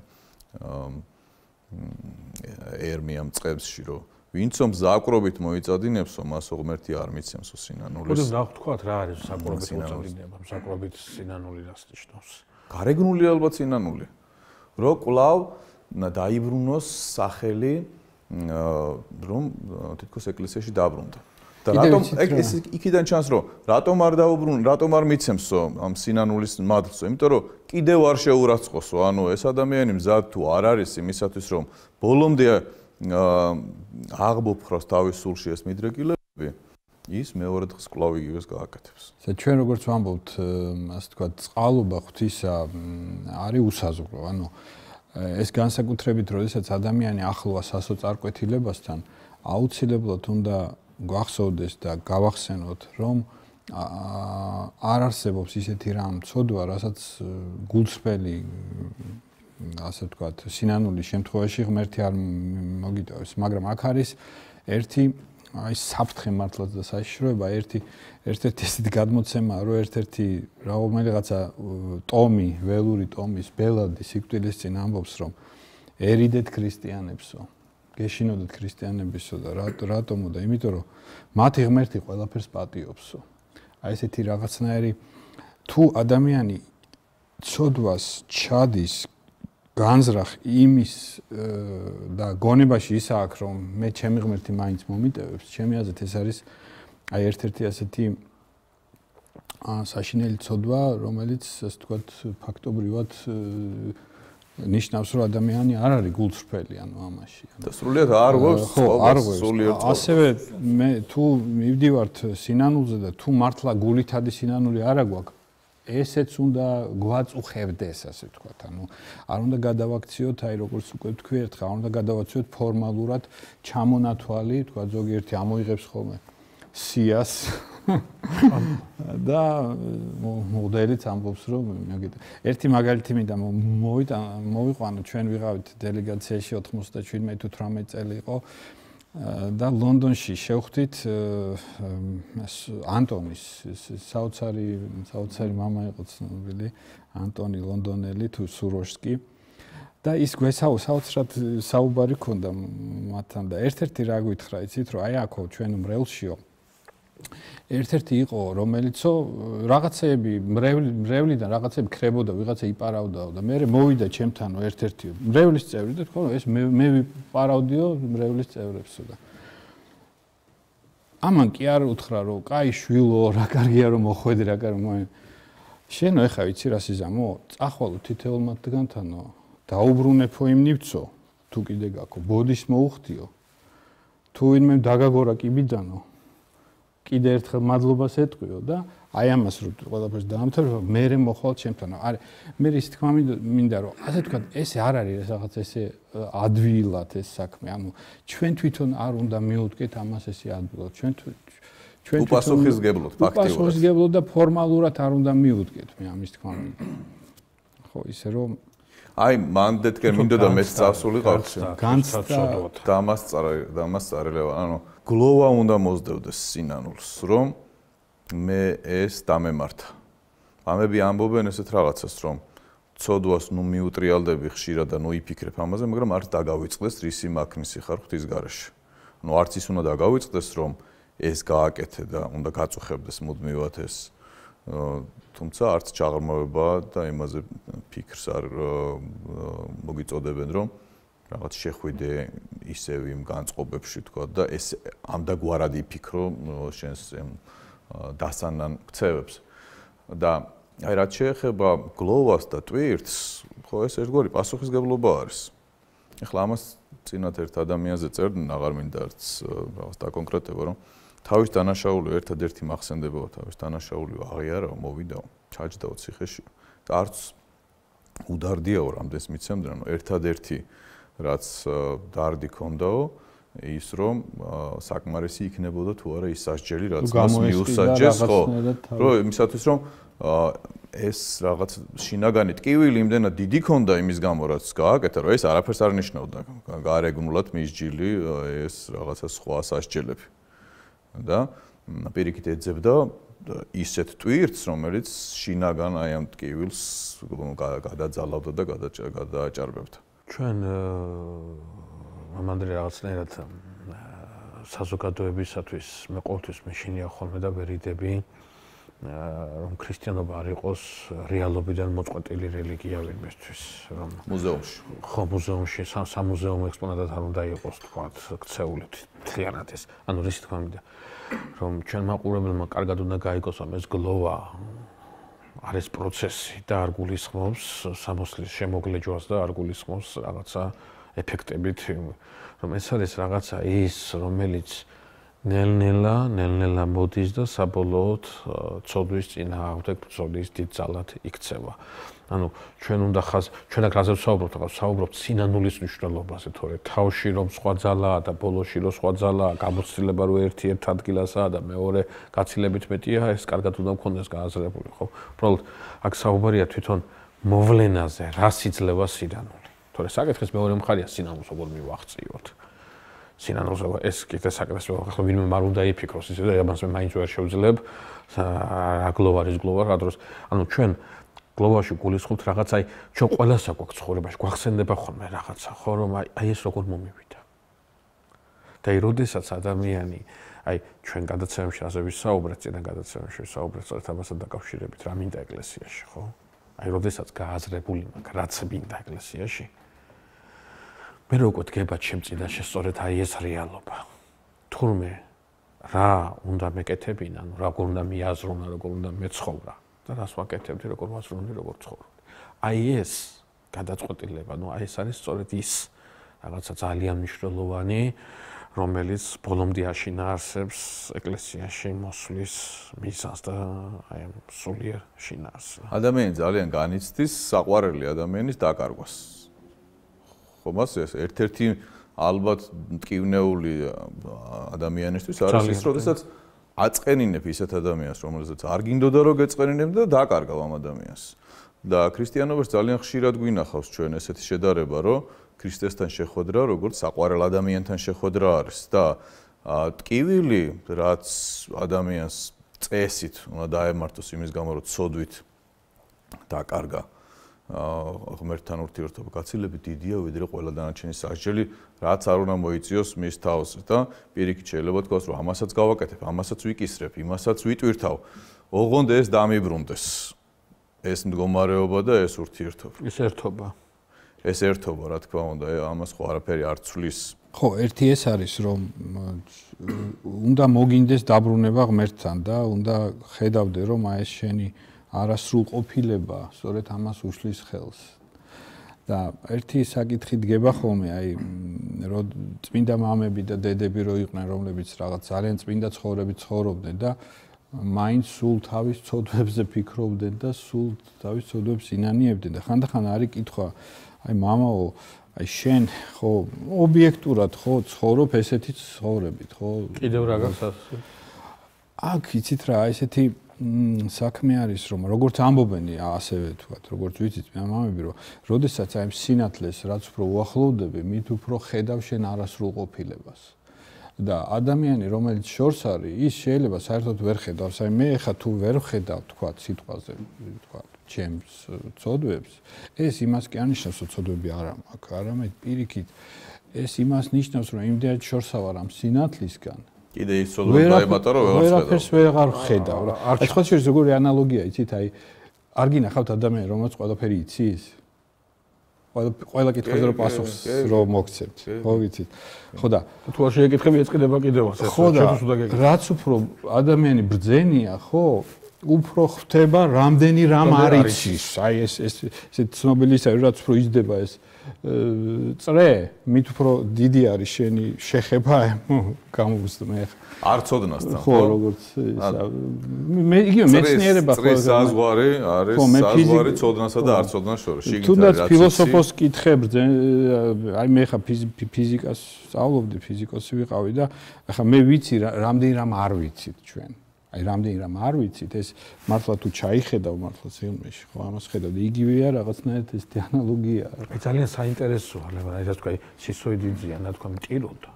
ერმიამ წყებსში, რომ ვინცო მზაკრობით მოიწადინებსო, მასო ღმერთი არ მიცემსო სინანულის. ხოდო ნახოთ რა არის საკრობით მოწადინება, საკრობით სინანული რას ნიშნავს? გარეგნული ალბათ სინანული. რო კვლავ დაიბრუნოს სახელი, რომ თითქოს ეკლესიაში დაბრუნდა. და რატომ ეს იქიდან ჩანს, რომ რატომ არ დაუბრუნ, რატომ არ მიცემსო ამ სინანულის მადლსო? იმიტომ რომ კიდევ არ შეურაცხყოფსო, ანუ ეს ადამიანი მზად თუ არ არის იმისათვის, რომ ბოლომდე აღბოფხროს თავის სულში ეს მიდრეკილებები, ის მეორე დღეს კვლავ იგივეს გააკეთებს. ჩვენ როგორც ვამბობთ, ასე თქვა, წყალობა ღვთისა არის უსაზღვრო. ანუ ეს განსაკუთრებით, როდესაც ადამიანი ახლოა სასოწარკვეთილებასთან, აუცილებლად უნდა გვახსოვდეს და გავახსენოთ, რომ არ არსებობს ისეთი რამ ცოდვა, რასაც გულწრფელი, ასე ვთქვათ, სინანულის შემთხვევაში ღმერთი არ მოგიტოვებს, მაგრამ აქ არის ერთი აი საფრთხე მართლაც და საშიშროება, ერთ-ერთი ესეთი გადმოცემაა, რომ ერთ-ერთი რომელიღაცა ტომი, ველური ტომის ბელადი სიკვდილის წინ ამბობს, რომ ერიდეთ ქრისტიანებსო, გეშინოდეთ ქრისტიანებისო და რატომო და იმიტომ რომ მათი ღმერთი ყველაფერს პატიობსო. აი ესეთი რაღაცნაირი თუ ადამიანი ცოდვას ჩადის განზრახ იმის და გონებაში ის აქვს რომ მე ჩემი ღმერთი მაინც მომიტევებს, ჩემი აზრით ეს არის აი ერთ-ერთი ასეთი საშინელი ცოდვა, რომელიც ასე ვთქვათ ფაქტობრივად ნიშნავს რომ ადამიანი არ არის გულწრფელი ანუ ამაში. და სრულიად არ ღვევს სრულიად. ასევე მე თუ მივდივართ სინანულზე და თუ მართლა გულითადი სინანული არა გვაქვს, ესეც უნდა გვაწუხებდეს, ასე ვთქვათ. ანუ არ უნდა გადავაქციოთ, აი როგორც უკვე თქვი ერთხელ, არ უნდა გადავაქციოთ ფორმალურად ჩამონათვალი, თქვა ზოგიერთი ამოიღებს ხოლმე სიას და მოდელიც ამბობს რომ ერთი მაგალითი მინდა მოვიყვანო, ჩვენ ვიღავით დელეგაციაში 97-18 წელი იყო და ლონდონში შევხვდით ანტონის საოცარი მამა იყო ცნობილი ანტონი ლონდონელი თუ სუროშსკი და ის საოცრად საუბარი ქონდა მათთან და ერთ-ერთი რა გითხრა იცით რომ აი აქო ჩვენ მრევლშიო ერთ-ერთი იყო რომელიცო რაღაცეები მრევლიდან რაღაცეები ქრებოდა ვიღაცა იპარავდაო და მე მოვიდა ჩემთანო ერთ-ერთი მრევლის წევრი და თქვა რომ ეს მე ვიპარავდიო მრევლის წევრებსო და ამან კი არ უთხრა რომ კაი შვილო რა კარგია რომ მოხვედი რა კარგი შენო ეხა ვიცი რა სიზამო წახვალო თითოეულ მათგანთანო დაუბრუნებო იმ ნივცო თუ კიდე გაქო ბოდის მოუხდიო თუ ვინმე დაგაგორა კიბიდანო კიდე ერთხელ მადლობას ეტყვიო და აი ამას რო ყველაფერს დაამთავრებო მე მოხვალ ჩემთან არა მე ის თქმა მინდა რომ ასე თქვა ეს არ არის რაღაც ესე ადვილად ეს საქმე ანუ ჩვენ თვითონ არ უნდა მიუდგეთ ამას ესე ადვილად ჩვენ უპასუხისგებლოდ ფაქტიურად უპასუხისგებლოდ და ფორმალურად არ უნდა მიუდგეთ მე ამის თქმა მინდა ხო ისე რომ აი მანდეთკენ მინდოდა მეც წავსულიყავ განცდა დამასწარელა ანუ გლოვა უნდა მოძდევდეს სინანულს რომ მე ეს დამემართა ამები ამბობენ ესეთ რაღაცას რომ ცოდვას ნუ მიუტრიალდები ხშირად და ნუ იფიქრებ ამაზე მაგრამ არც დაგავიწყდეს რისი მაქნისი ხარ ღვთის გარეშე ნუ არც ის უნდა დაგავიწყდეს რომ ეს გააკეთე და უნდა გაწუხებდეს მუდმივად ეს თუმცა არც ჩაღრმავება და იმაზე ფიქრს არ მოგიწოდებენ რომ რაღაც შეხვიდე ისევ იმ განწყობებში თქვა და ეს ამდაგვარად იფიქრო შენს დასანან ქცევებს და აი რაც შეეხება გლოვას და ტვირთს ხო ეს ერთგვარი პასუხისგებლობა არის ეხლა ამას წინათ ერთ ადამიანზე წერდნენ აღარ მინდა არც რაღაც დაკონკრეტება რომ თავის დანაშაული ერთადერთი მახსენდებოდა თავის დანაშაული აღიარაო მოვიდაო ჩაჯდაო ციხეში და არც უდარდიაო რამდენს მიცემდნენ რომ ერთადერთი რაც დარდი ქონდაო ის რომ საკმარისი იქნებოდა თუ არა ის სასჯელი რაც მას მიუსაჯეს ხო რომ იმისათვის რომ ეს რაღაც შინაგანი ტკივილი იმდენად დიდი ქონდა იმის გამო რაც გააკეთა რომ ეს არაფერს არ ნიშნავდა გარეგნულად მისჯილი ეს რაღაცა სხვა სასჯელები და პირიქით ეძებდა ისეთ ტვირთს რომელიც შინაგან აი ამ ტკივილს გადაძალავდა და გადააჭარბებდა ჩვენ ამანდრე რაღაცნაირად საზოგადოებისათვის მე ყოველთვის მეშინია ხოლმე და ვერიდები რომ ქრისტიანობა არ იყოს რეალობიდან მოწყვეტილი რელიგია ვინმესთვის რომ მუზეუმში ხო მუზეუმში სამუზეუმო ექსპონატად არ უნდა იყოს თქვა ქცეული თლიანად ეს ანუ რისი თქმა მინდა რომ ჩვენ მაყურებელმა კარგად უნდა გაიგოს ამ ეს გლოვა არის პროცესი და არ გულისხმობს სამოსლის შემოგლეჯვას და არ გულისხმობს რაღაცა ეფექტებით რომ ეს არის რაღაცა ის რომელიც ნელ-ნელა მოდის და საბოლოოდ ცოდვის წინააღმდეგ ბრძოლის დიდ ძალად იქცევა. ანუ ჩვენ უნდა ჩვენ აქ რაზე ვსაუბრობთ სინანულის მნიშვნელობაზე, თორე თავში რომ სხვა ძალაა და ბოლოში რომ სხვა ძალაა, გამოცდილება რომ ერთი ერთ ადგილასაა და მეორე გაცილებით მეტია, ეს კარგად უნდა მქონდეს გააზრებული, ხო? უბრალოდ აქ საუბარია თვითონ მოვლენაზე, რას იძლევა სინანული. თორე საკითხის მეორე მხარეა სინანულს როგორ მივახციოთ. სინანულს ეს კიდე საკითხი ახლა ვინმე არ უნდა იფიქროს, ისე და ამას მე მაინც ვერ შევძლებ რა გლოვარის გლოვა რა დროს. ანუ ჩვენ გლოვაში გულისხმობთ რაღაც აი ჩვენ ყველას აქვს ცხოვრებაში გვახსენდება ხოლმე რაღაცა ხო რომ აი ეს როგორ მომივიდა. და აი როდესაც ადამიანი აი ჩვენ გადაცემებში ასე ვისაუბრეთ, წინა გადაცემებში ვისაუბრეთ სწორედ ამასთან დაკავშირებით რა მინდა ეკლესიაში, ხო? აი როდესაც გააზრებული მაქვს რაც მინდა ეკლესიაში მე როგორ დგება ჩემ წინაშე სწორედ აი ეს რეალობა. თურმე რა უნდა მეკეთებინა, ანუ როგორ უნდა მიაზრონა, როგორ უნდა მეცხოვრა და რას ვაკეთებდი, როგორ ვაზროვნდი, როგორ ცხოვრობდი. აი ეს გადაწყვეტილება, ну აი ეს არის სწორედ ის რაღაცა ძალიან მნიშვნელოვანი, რომელიც ბოლომდე აშინა არსებს ეკლესიაში მოსვლის მიზანს და აი ამ სულიერ შინაარსს. ადამიანი ძალიან განიცდის საყვარელი ადამიანის დაკარგვას. ხო, მას ეს ერთ-ერთი ალბათ მტკივნეული ადამიანისთვის არის ის, როდესაც აწყენინებ ისეთ ადამიანს, რომელსაც არ გინდოდა რომ გეწყენინებ და დაკარგავ ამ ადამიანს. და ქრისტიანობაში ძალიან ხშირად გვინახავს ჩვენ ესეთი შედარება, რომ ქრისტესთან შეხვედრა როგორც საყვარელ ადამიანთან შეხვედრა არის და ტკივილი, რაც ადამიანს წესით უნდა დაემართოს იმის გამო, რომ ცოდვით დაკარგა ღმერთთან ურთიერთობა გაცილებით დიდია, ვიდრე ყველა დანარჩენი სასჯელი, რაც არ უნდა მოიწიოს მის თავს და პირიქით შეიძლება თქვას, რომ ამასაც გავაკეთებ, ამასაც ვიკისრებ, იმასაც ვიტვირთავ. ოღონდ ეს დამიბრუნდეს. ეს მდგომარეობა და ეს ურთიერთობა. ეს ერთობა, რა თქმა უნდა, ამას ხო არაფერი არ ცვლის. ხო, ერთი ეს არის, რომ უნდა მოგინდეს დაბრუნება ღმერთთან და უნდა ხედავდე, რომ აი ეს შენი არასრულყოფილება სწორედ ამას უშლის ხელს. და ერთი საკითხი დგება ხოლმე, აი რომ წმინდა მამები და დედები რო იყვნენ, რომლებიც რაღაც ძალიან წმინდა ცხოვრებით ცხოვრობდნენ და მაინც სულ თავის ცოდვებზე ფიქრობდნენ და სულ თავის ცოდვებს ინანიებდნენ და ხანდახან არის კითხვა, აი მამაო, აი შენ ხო ობიექტურად ხო ცხოვრობ ესეთი ცხოვრებით, ხო? კიდევ რა გახსოვს? აქ იცით რა, ესეთი საქმე არის, რომ როგორც ამბობენ ასევე თქვათ, როგორც ვიცით მამები, რომ როდესაც აი სინათლეს რაც უფრო უახლოვდები, მით უფრო ხედავ შენ არასრულყოფილებას. და ადამიანი, რომელიც შორს არის, ის შეიძლება საერთოდ ვერ ხედავს. აი მე ხა თუ ვერ ვხედავ, თქვათ, სიტყვაზე, თქვათ, ჩემს ცოდვებს, ეს იმას კი არნიშნავს, რომ ცოდვები არ მაქვს, არამედ პირიქით ეს იმას ნიშნავს, რომ იმდენად შორსა ვარ ამ სინათლისგან. კიდე ის ცოდვა დაემატა, რომ ვერაფერს ვეღარ ხედავ. აი სხვა შეიძლება როგორი ანალოგია იცით, აი არ გინახავთ ადამიანი, რომელიც ყველაფერი იცის? ყველა კითხვაზე რო პასუხს რო მოგცემთ, ხო ვიცით. ხო და თუ არ შეეკითხები ეწყდება კიდევ ასე. ხო და რაც უფრო ადამიანი ბრძენია, ხო, უფრო ხვდება რამდენი რამ არ იცის. აი ეს ცნობილი ისაა, რაც უფრო იზრდება ეს წრე, მით უფრო დიდი არის შენი შეხება გამოვსწრე. არ ცოდნასთან, ხო, როგორც მე იგივე მეცნიერება ხო საზღვარი არის, საზღვარი ცოდნასა და არ ცოდნას შორის. თუნდაც ფილოსოფოს კითხებ, აი მე ხა ფიზიკას სწავლობდი, ფიზიკოსი ვიყავი და ახლა მე ვიცი რამდენი რამ არ ვიცით ჩვენ. აი რამდენი რამ არ ვიცით, ეს მართლა თუ ჩაიხედავ მართლა ფილმში, ხო, ამას ხედავ და იგივეა რაღაცნაირად ეს ანალოგია. აი ძალიან საინტერესოა, აი რა თქვა, სისოიდიძია, რა თქვა, მტიროდა.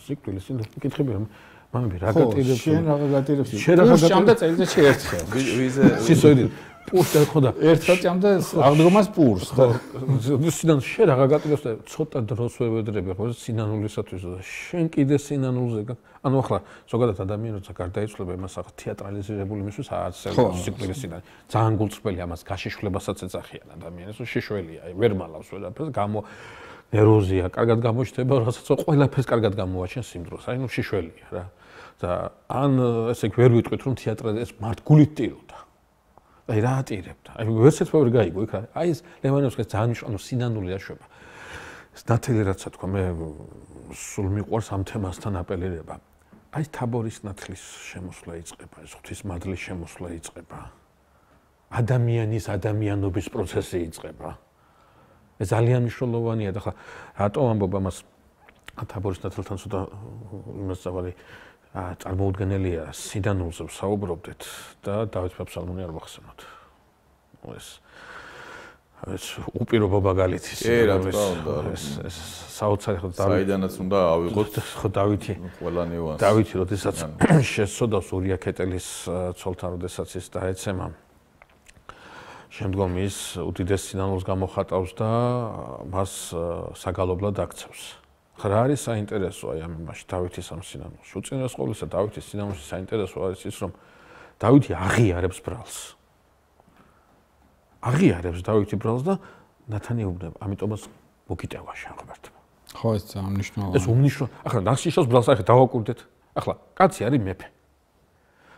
სიკვდილის ინდა კითხები რომ მამები რა გატირებს? შენ რა გატირებს? შენ რა ჭამდა წელიწადში ერთხელ. ვიზე სისოიდი პურს და ხო და ერთხელ ჭამდა აღდგომას პურს. სინან შენ რა გატირებს და ცოტა დროს ვევედრები ხო სინანულისათვის და შენ კიდე სინანულზე ანუ ახლა ზოგადად ადამიანი როცა გარდაიცვლება იმას ახლა თეატრალიზირებული მისთვის არცელს სიკვდილის სინანი ძალიან გულწრფელი ამას გაშიშვლებასაც ეძახიან ადამიანს რომ შეშველია აი ვერ მალავს ვერაფერს გამო ნეროზია კარგად გამოჩნდება რასაც ყველაფერს კარგად გამოაჩენს იმ დროს აი ნუ შეშველია რა და ან ესე ვერ ვიტყვით რომ თეატრალ ეს მართგულით ტიროდა აი რა ატირებდა აი ვერცერთ ვერ გაიგო იქ აი ეს ლევანოვსკის ძალიან ანუ სინანული აშვება ეს ნათელი რაცა თქვა მე სულ მიყვარს ამ თემასთან აპელირება აი თაბორის ნათლის შემოსვლა იწყება, ეს ღვთისმადლის შემოსვლა იწყება. ადამიანის ადამიანობის პროცესი იწყება. ეს ძალიან მნიშვნელოვანია და ხა რატო ამბობ ამას თაბორის ნათლთან ცოტა იმას წავალი წარმოუდგენელია სინანულზე ვსაუბრობდეთ და დავით ფაფსალმონი არ ვახსენოთ. ეს უპირობო მაგალითის ეს საოცარი ხო საიდანაც უნდა ავიღოთ ხო დავითი ყველა ნიუანსი. დავითი როდესაც შესწოდავს ურია ქეტელის ცოლთან როდესაც ის დაეცემა შემდგომ ის უდიდეს სინანულს გამოხატავს და მას საგალობლად აქცევს. რა არის საინტერესო აი ამ იმაში დავითის ამ სინანულში? უწინარეს ყოვლისა დავითის სინანულში საინტერესო არის ის რომ დავითი აღიარებს ბრალს. აღიარებს დავითი ბრალს და ნათანი უბნება, ამიტომაც მოგიტევა შენ ღმერთმა. ხო, ეს ძალიან მნიშვნელოვანია. ეს უმნიშვნელო. ახლა ნახშიშოს ბრალს ახლა დავაკვირდეთ. ახლა კაცი არის მეფე.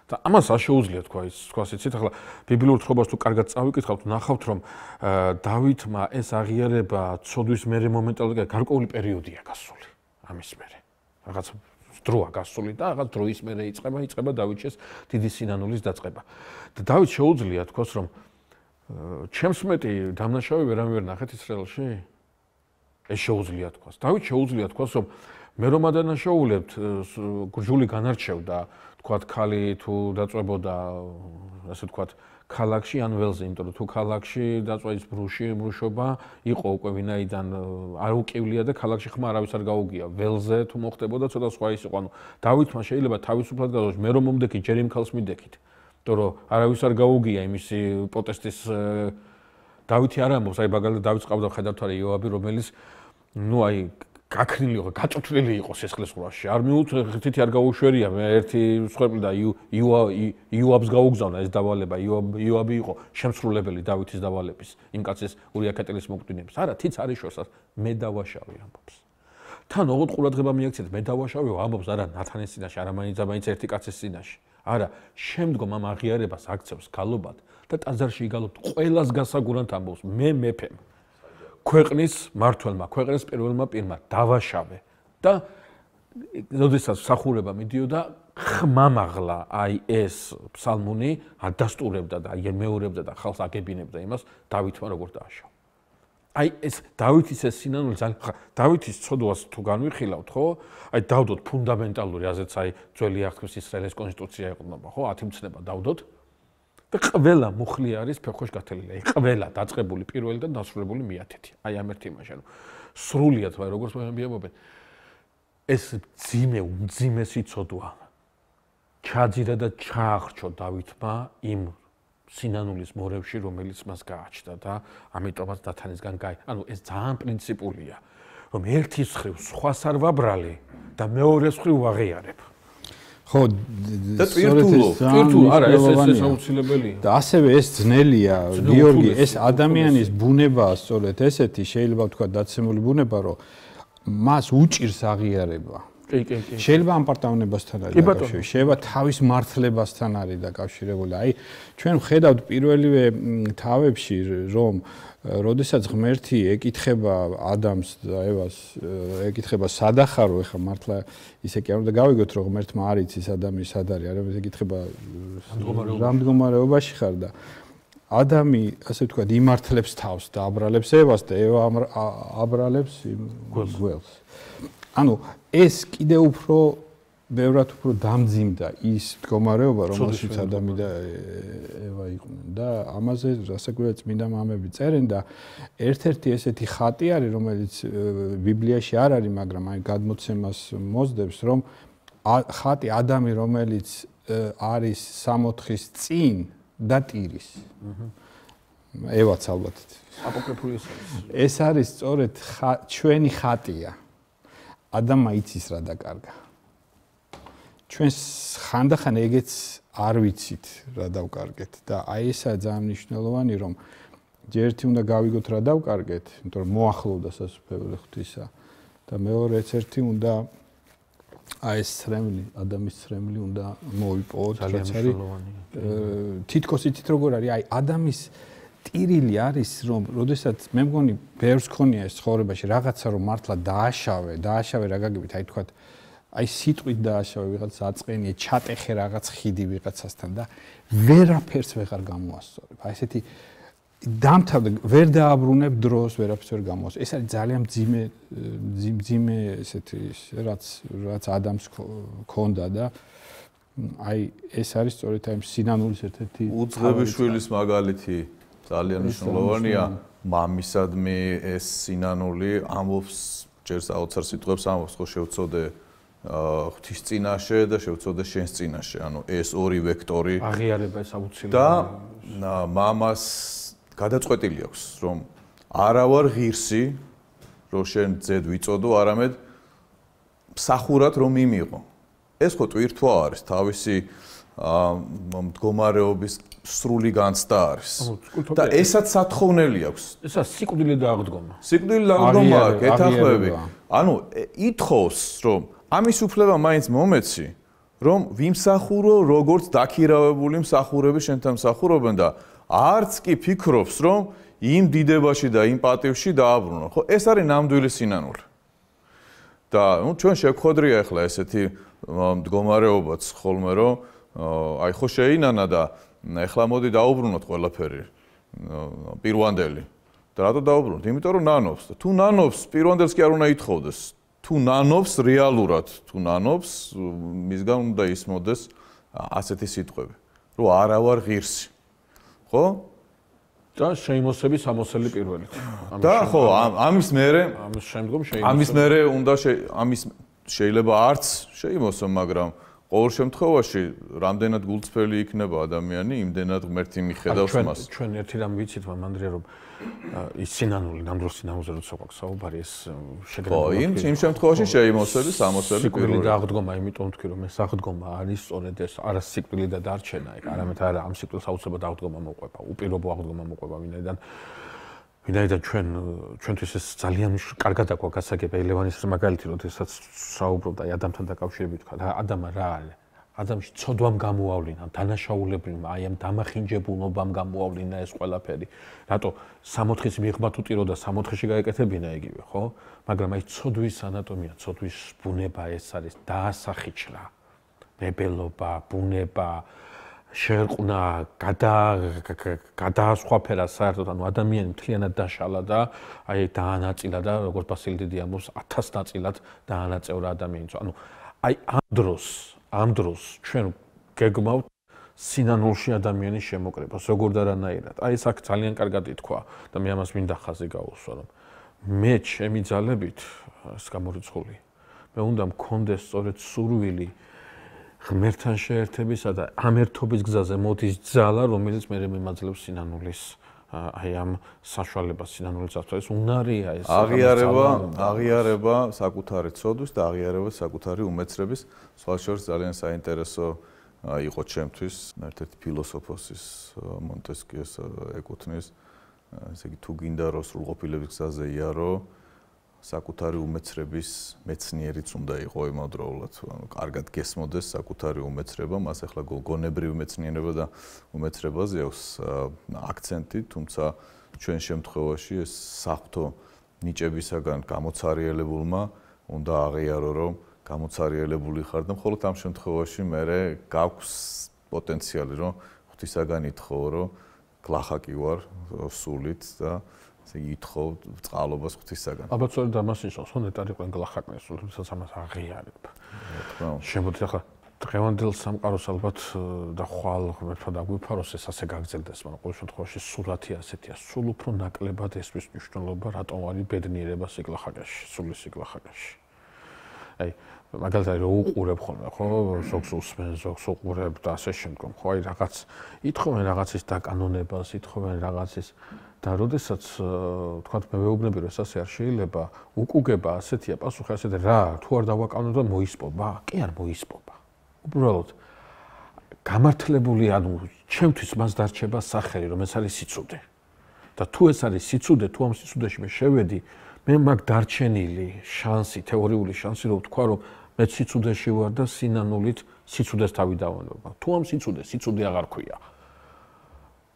და ამას არ შეუძლია თქვა ის, თქვას იცით, ახლა ბიბლიურ თხრობას თუ კარგად წავიკითხავთ, ნახავთ რომ დავითმა ეს აღიარება ცოდვის მერე მომენტალურად გარკვეული პერიოდია გასული. ამის მერე. რაღაც დროა გასული და რაღაც დროის მერე იწყება დავითის დიდი სინანულის დაწყება. და დავით შეუძლია თქვას რომ ჩემს მეტი დამნაშავე ვერავინ ვერ ნახეთ ისრაელში? ეს შეუძლია თქვას. დავით შეუძლია თქვას რომ მე რომ ადანაშაულებთ გურჯული განარჩევდა თქვათ ქალი თუ დაწვებოდა ასე თქვათ ქალაქში ან ველზე, იმიტომ რომ თუ ქალაქში დაწვა ის ბრუშობა იყო უკვე ვინაიდან არ უკივლია და ქალაქში ხმა არავის არ გაუგია. ველზე თუ მოხდებოდა ცოტა სხვა ის იყო. ანუ დავითმა შეიძლება თავისუფლად გადავაშ მე რომ მომდექი ჯერ იმ ქალს მიდექით. იმიტომ რომ არავის არ გაუგია იმისი პროტესტის დავითი არ ამბობს, აი მაგალითად დავითს ყავდა ხედავთ არა იოაბი, რომელიც ნუ აი გაქრილი იყო, გაწოთვლილი იყო სისხლის ყურაში. არ მიუწვეთი არ გაუშვერია, მე ერთი მსხვერპლი და იოაბს გაუგზავნა ეს დავალება. იოაბი იყო შემსრულებელი დავითის დავალების, იმ კაცის ურია ქეტელის მოკვდინების. არა, თიც არის შორსაც, მე დავაშავე ამბობს. თან ოღონდ ყურადღება მიაქციეთ, მე დავაშავე ამბობს არა ნათანის წინაშე, არა მაინც ერთი კაცის წინაშე. არა, შემდგომ ამ აღიარებას აქცევს გალობად და ტაძარში იგალობთ ყველას გასაგურანთ ამბობს, მე მეფემ. ქვეყნის მართველმა, ქვეყნის პირველმა პირმა დავაშავე და როდესაც მსახურება მიდიოდა ხმამაღლა აი ეს ფსალმუნი ადასტურებდა და ემეორებდა და ხალხს აგებინებდა იმას დავითმა როგორ დააშავა. აი ეს დავითის ეს სინანული დავითის ცოდვას თუ განვიხილავთ, ხო? აი დავდოთ ფუნდამენტალური, ასეც აი ძველი აღთქმის ისრაელის კონსტიტუცია ეყრდნობა, ხო? 10 მცნება დავდოთ. და ყველა მუხლი არის ფეხოშ გათელილი. ყველა დაწყებული პირველი და დასრულებული მე-10. აი ამ ერთი იმაში, ანუ სრულიად ვარ როგორც მეუბნებიან. ეს უმძიმესი ცოდვა ჩაძირა და ჩაახრჩო დავითმა იმ სინანულის მორევში, რომელიც მას გააჩნდა და ამიტომაც ნათანისგან ანუ ეს ძალიან პრინციპულია, რომ ერთის მხრივ სხვას არ ვაბრალი და მეორეს მხრივ ვაღიარებ. ხო, და ტვირთულო, არა, ეს აუცილებელია. და ასევე ეს ძნელია, გიორგი, ეს ადამიანის ბუნებაა სწორედ ესეთი, შეიძლება ვთქვა დაცემული ბუნება, რომ მას უჭირს აღიარება. კი. შეიძლება ამ პარტავნებასთან არის დაკავშირებული, შეიძლება თავის მართლებასთან არის დაკავშირებული. აი, ჩვენ ვხედავთ პირველივე თავებში, რომ როდესაც ღმერთი ეკითხება ადამს და ევას, ეკითხება სადახარო, ეხა მართლა ისე კი არ უნდა გავიგოთ, რომ ღმერთმა არ იცის ადამი სად არის, არა, ეკითხება რა მდგომარეობაში ხარ და ადამი, ასე ვთქვათ, იმართლებს თავს და აბრალებს ევას და ევა აბრალებს გველს. ანუ ეს კიდე უფრო ბევრად უფრო დამძიმდა ის მდგომარეობა, რომელშიც ადამი და ევა იყვნენ და ამაზე რასაკვირველია წმინდა მამები წერენ და ერთ-ერთი ესეთი ხატი არის, რომელიც ბიბლიაში არ არის, მაგრამ აი გადმოცემას მოძდებს, რომ ხატი ადამი, რომელიც არის 64-ის წინ და ტირის. ევაც ალბათ. აპოკრიფული ეს არის სწორედ ჩვენი ხატია. ადამმა იცის რა დაკარგა. ჩვენ ხანდახან ეგეც არ ვიცით რა დავკარგეთ და აი ესაა ძალიან მნიშვნელოვანი რომ ერთი უნდა გავიგოთ რა დავკარგეთ, იმიტომ რომ მოახლოვდა სასუფეველი ღვთისა და მეორეც ერთი უნდა აი ეს ცრემლი, ადამიანის ცრემლი უნდა მოიპოვოთ, რაც არის თითქოს იცით როგორ არის, აი ადამიანის ტირილი არის რომ როდესაც მე მგონი ბევრს ქონია ეს ცხოვრებაში რაღაცა რომ მართლა დააშავე რა გაგებით, აი თქვათ აი სიტყვით დააშავე ვიღაც აწყენია, ჩატეხე რაღაც ხიდი ვიღაცასთან და ვერაფერს ვეღარ გამოასწორებ. აი ესეთი დამთავრდა, ვერ დააბრუნებ დროს, ვერაფერს ვერ გამოასწორებ. ეს არის ძალიან მძიმე ესეთი რაც ადამიანს ქონდა და აი ეს არის სწორედ აი სინანულის ერთ-ერთი უძღებიშვილის მაგალითი ძალიან მნიშვნელოვანია. მამისადმი ეს სინანული ამბობს ჯერ საოცარ სიტყვებს ამბობს, ხო შევწოდე ღვთის წინაშე და შევწოდე შენს წინაშე. ანუ ეს ორი ვექტორი აღიარება ეს აუცილებელი და მამას გადაწყვეტილი აქვს, რომ არა ვარ ღირსი, რომ შენ ძედ ვიწოდო, არამედ მსახურად რომ მიმიღო. ეს ხო ტვირთვა არის, თავისი მდგომარეობის სრული განცდა არის. და ესაც სათხოვნელი აქვს. ესა სიკვდილი დააღდგომა. სიკვდილი დააღდგომა, გეთახმები. ანუ ითხოვს, რომ ამის უფლება მაინც მომეცი, რომ ვიმსახურო როგორც დაქირავებული მსახურები შენთან მსახურობენ და არც კი ფიქრობს, რომ იმ დიდებაში და იმ პატივში დააბრუნო. ხო, ეს არის ნამდვილი სინანული. და ნუ ჩვენ შეგხვედრია ახლა ესეთი მდგომარეობაც ხოლმე, რომ აი ხო შეინანა და ახლა მოდი დაუბრუნოთ ყველაფერი პირვანდელი. და რატო დაუბრუნოთ? იმიტომ რომ ნანობს და თუ ნანობს, პირვანდელს კი არ უნდა ითხოვდეს. თუ ნანობს რეალურად, თუ ნანობს, მისგან უნდა ისმოდეს ასეთი სიტყვები, რომ არა ვარ ღირსი. ხო? და შეიმოსების ამოსელი პირველი. და ხო, ამის მერე ამის შემდგომ შეიმოსება. ამის მერე უნდა ამის შეიძლება არც შეიმოსო, მაგრამ ყოველ შემთხვევაში რამდენად გულწრფელი იქნება ადამიანი, იმდენად ღმერთი მიხედავს მას. ჩვენ ერთი რამ ვიცით მანდრია, რომ ის სინანული, ნამდვილ სინანულზე როცა გვაქვს საუბარი, ეს შეგროვება. ხო, იმ შემთხვევაში შეიმოსების ამოსელი სიკვდილი დააღდგომა, იმიტომ თქვი, რომ ეს აღდგომა არის სწორედ ეს არა სიკვდილი და დარჩენა, არამედ არა ამ სიკვდილს აუცილებლად აღდგომა მოყვება, უპირობო აღდგომა მოყვება, ვინაიდან ჩვენთვის ეს ძალიან კარგად აქვს გასაგები. ლევანის მაგალითი, როდესაც საუბრობდა აი ადამიანთან დაკავშირებით, თქვა რა ადამა რა არის? ადამიანში ცოდვამ გამოავლინა, დანაშაულებრივმა, აი ამ დამახინჯებულობამ გამოავლინა ეს ყველაფერი. რატო 60-ის მიღმა თუ ტირო და 60-ში გაეკეთებინა იგივე, ხო? მაგრამ აი ცოდვის ანატომია, ცოდვის ბუნება ეს არის დაასახიჩრა. ნებელობა, ბუნება, შერყნა, გადაასხვაფერა საერთოდ, ანუ ადამიანი მთლიანად დაშალა და აი დაანაწილა და როგორც ბასილი დიდი ამბობს 1000 ნაწილად დაანაწევრა ადამიანს. ანუ აი ამ დროს ჩვენ გეგმავთ სინანულში ადამიანის შემოკრებას, როგორ და რანაირად. აი ეს აქ ძალიან კარგად ითქვა და მე ამას მინდა ხაზი გაუსვა, რომ მე ჩემი ძალებით ეს გამორიცხული, მე უნდა მქონდეს სწორედ სურვილი ღმერთთან შეერთებისა და ამ ერთობის გზაზე მოდის ძალა, რომელიც მე მიმაძლევს სინანულის აი ამ საშუალებას, სინანულის წარსულს უნარია ეს აღიარება საკუთარი ცოდვის და აღიარება საკუთარი უმეცრების. სხვა შორის ძალიან საინტერესო იყო ჩემთვის ერთ-ერთი ფილოსოფოსის მონტესკიეს ეკუთვნის, ესე იგი თუ გინდა რომ სრულყოფილების გზაზე იარო, საკუთარი უმეცრების მეცნიერიც უნდა იყო იმავდროულად, ანუ კარგად გესმოდეს საკუთარი უმეცრება, მას ახლა გონებრივი მეცნიერება და უმეცრებაზე აქვს აქცენტი, თუმცა ჩვენ შემთხვევაში ეს საღვთო ნიჭებისაგან გამოცარიელებულმა უნდა აღიარო, რომ გამოცარიელებული ხარ და მხოლოდ ამ შემთხვევაში მე გაქვს პოტენციალი, რომ ღვთისაგან ითხოვ, რომ გლახაკი ვარ სულით და ესე ითხოვ წყალობას ღვთისაგან. ალბათ სწორედ ამას ნიშნავს, რომ ნეტარი ყველ გლახაკნეს, თუმცა ამას აღიარებ. შემოდი ახლა დღევანდელ სამყაროს ალბათ და ხვალ ღმერთმა დაგვიფაროს ეს ასე გაგრძელდეს, მაგრამ ყოველ შემთხვევაში სულათი ასეთია, სულ უფრო ნაკლებად ესვის მნიშვნელობა, რატომ არის ბედნიერება სიგლახაკაში, სულის სიგლახაკაში. აი, მაგალითად რო უყურებ ხოლმე, ხო, ზოგს უსმენ, ზოგს უყურებ და ასე შემდგომ, ხო, აი რაღაც ითხოვენ რაღაცის დაკანონებას, ითხოვენ რაღაცის და როდესაც თქვათ მე ვეუბნები რომ ეს ასე არ შეიძლება, უკუგება ასეთია, პასუხი ასეთი რა, თუ არ დავაკანონებ და მოისპობა? კი არ მოისპობა. უბრალოდ გამართლებული, ანუ ჩემთვის მას დარჩება სახელი, რომ ეს არის სიცუდე. და თუ ეს არის სიცუდე, თუ ამ სიცუდეში მე შევედი, მე მაგ დარჩენილი შანსი, თეორიული შანსი, რომ ვთქვა, რომ მე სიცუდეში ვარ და სინანულით სიცუდეს თავი დავანებო. თუ ამ სიცუდე აღარ ქვია.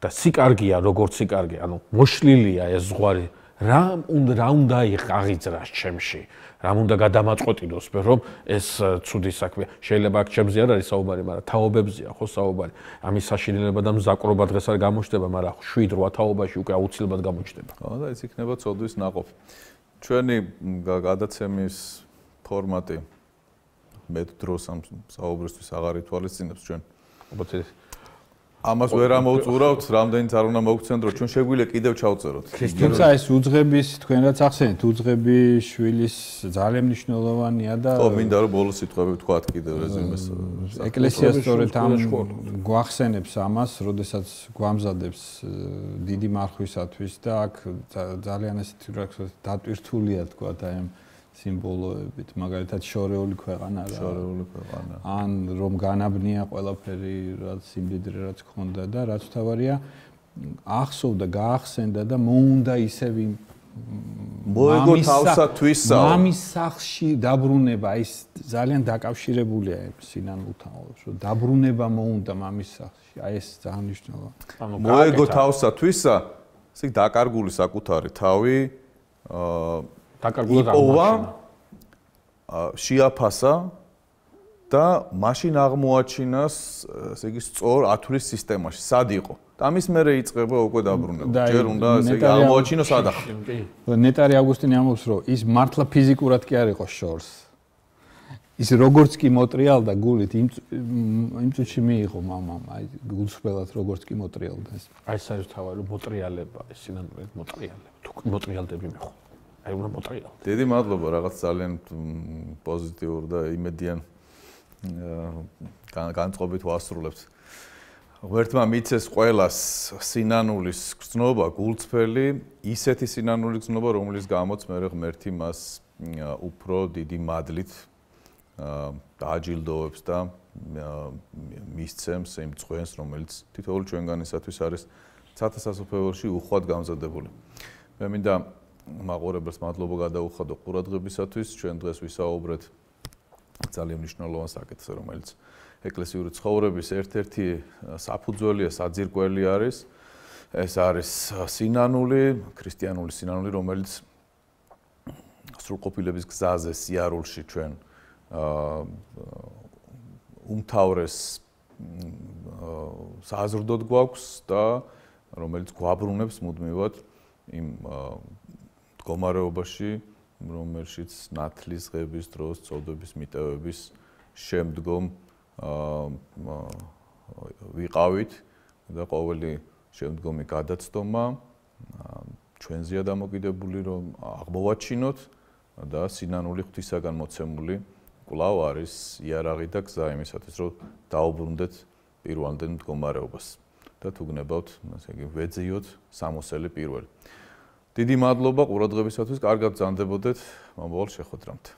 და სიკარგია, როგორც სიკარგე, ანუ მოშლილია ეს ზღვარი რა უნდა აღიძრას ჩემში, რა უნდა გადამაწყვეტინოს მე რომ ეს ცუდი საქმე შეიძლება აქ ჩემზე არ არის საუბარი, მაგრამ თაობებზეა ხო საუბარი. ამის საშინელება და მზაკრობა დღეს არ გამოჩნდება, მაგრამ 7-8 თაობაში უკვე აუცილებლად გამოჩნდება. ხო და ეს იქნება ცოდვის ნაყოფი. ჩვენი გადაცემის ფორმატი მეტ დროს ამ საუბრისთვის აღარ ითვალისწინებს ჩვენ. ალბათ ამას ვერ ამოვწურავთ, რამდენიც არ უნდა მოგცემთ, რომ ჩვენ შეგვიძლია კიდევ ჩავწეროთ. თუმცა ეს უძღების თქვენ რაც ახსენეთ, უძღები შვილის ძალიან მნიშვნელოვანია და ხო, მინდა რომ ბოლოს სიტყვები ვთქვათ კიდევ რეზუმეს. ეკლესია სწორედ ამ გვახსენებს ამას, როდესაც გვამზადებს დიდი მარხვისათვის და აქ ძალიან ესეთი რა ქვია, დატვირთულია თქვა აი ამ სიმბოლოებით, მაგალითად შორეული ქვეყანა რა. შორეული ქვეყანა. ან რომ განაბნია ყველაფერი, რაც სიმდიდრე რაც ქონდა და რაც თავარია ახსოვდა, გაახსენდა და მოუნდა ისევ მოეგო თავსა თვისა. მამის სახლში დაბრუნება, ის ძალიან დაკავშირებულია სინანულთან, რომ დაბრუნება მოუნდა მამის სახლში. აი ეს ძალიან მნიშვნელოვანია. მოეგო თავსა თვისა, ისე დაკარგული საკუთარი თავი დაკარგულად აღმოაჩინა. შეაფასა და მაშინ აღმოაჩინას, ესე იგი, სწორ ათვლის სისტემაში, სად იყო. და ამის მერე იწყება უკვე დაბრუნება. ჯერ უნდა ესე იგი აღმოაჩინოს ადახი. ნეტარი ავგუსტინი ამბობს, რომ ის მართლა ფიზიკურად კი არ იყო შორს. ის როგორც კი მოტრიალდა გულით, იმ წუთში მიიღო მამამ, აი გულსხმელად როგორც კი მოტრიალდა ეს. აი ეს არის თავი, მოტრიალება, ეს სინამდვილედ მოტრიალება. თუ მოტრიალდები მეხო. აი უნდა მოტრიალო. დიდი მადლობა, რაღაც ძალიან პოზიტიურ და იმედიან განწყობით ვასრულებთ. ღმერთმა მიცეს ყველას სინანულის გრძნობა, გულწრფელი, ისეთი სინანულის გრძნობა, რომლის გამოც მე ღმერთი მას უფრო დიდი მადლით დააჯილდოვებს და მისცემს იმ წვენს, რომელიც თითოეული ჩვენგანისათვის არის ცათასასოფეველში უხვად გამზადებული. მე მინდა მაყურებელს მადლობა გადაუხადო ყურადღებისათვის. ჩვენ დღეს ვისაუბრეთ ძალიან მნიშვნელოვან საკითხზე, რომელიც ეკლესიური ცხოვრების ერთ-ერთი საფუძველია, საძირკველი არის. ეს არის სინანული, ქრისტიანული სინანული, რომელიც სრულყოფილების გზაზე, სიარულში ჩვენ უმთავრეს საზრდოდ გვაქვს და რომელიც გვაბრუნებს მუდმივად იმ მდგომარეობაში, რომელშიც ნათლის ღების დროს, წოდების მიტევების შემდგომ ვიყავით და ყოველი შემდგომი გადაცდომა ჩვენზეა დამოკიდებული, რომ აღმოვაჩინოთ და სინანული ღვთისაგან მოცემული კვლავ არის იარაღი და გზა იმისათვის, რომ დაუბრუნდეთ პირვანდელ მდგომარეობას და თუ გნებავთ, ასე იგი, ვეძიოთ სამოსელი პირველი. დიდი მადლობა ყურადღებისათვის, კარგად ბრძანდებოდეთ მომავალ შეხვედრამდე.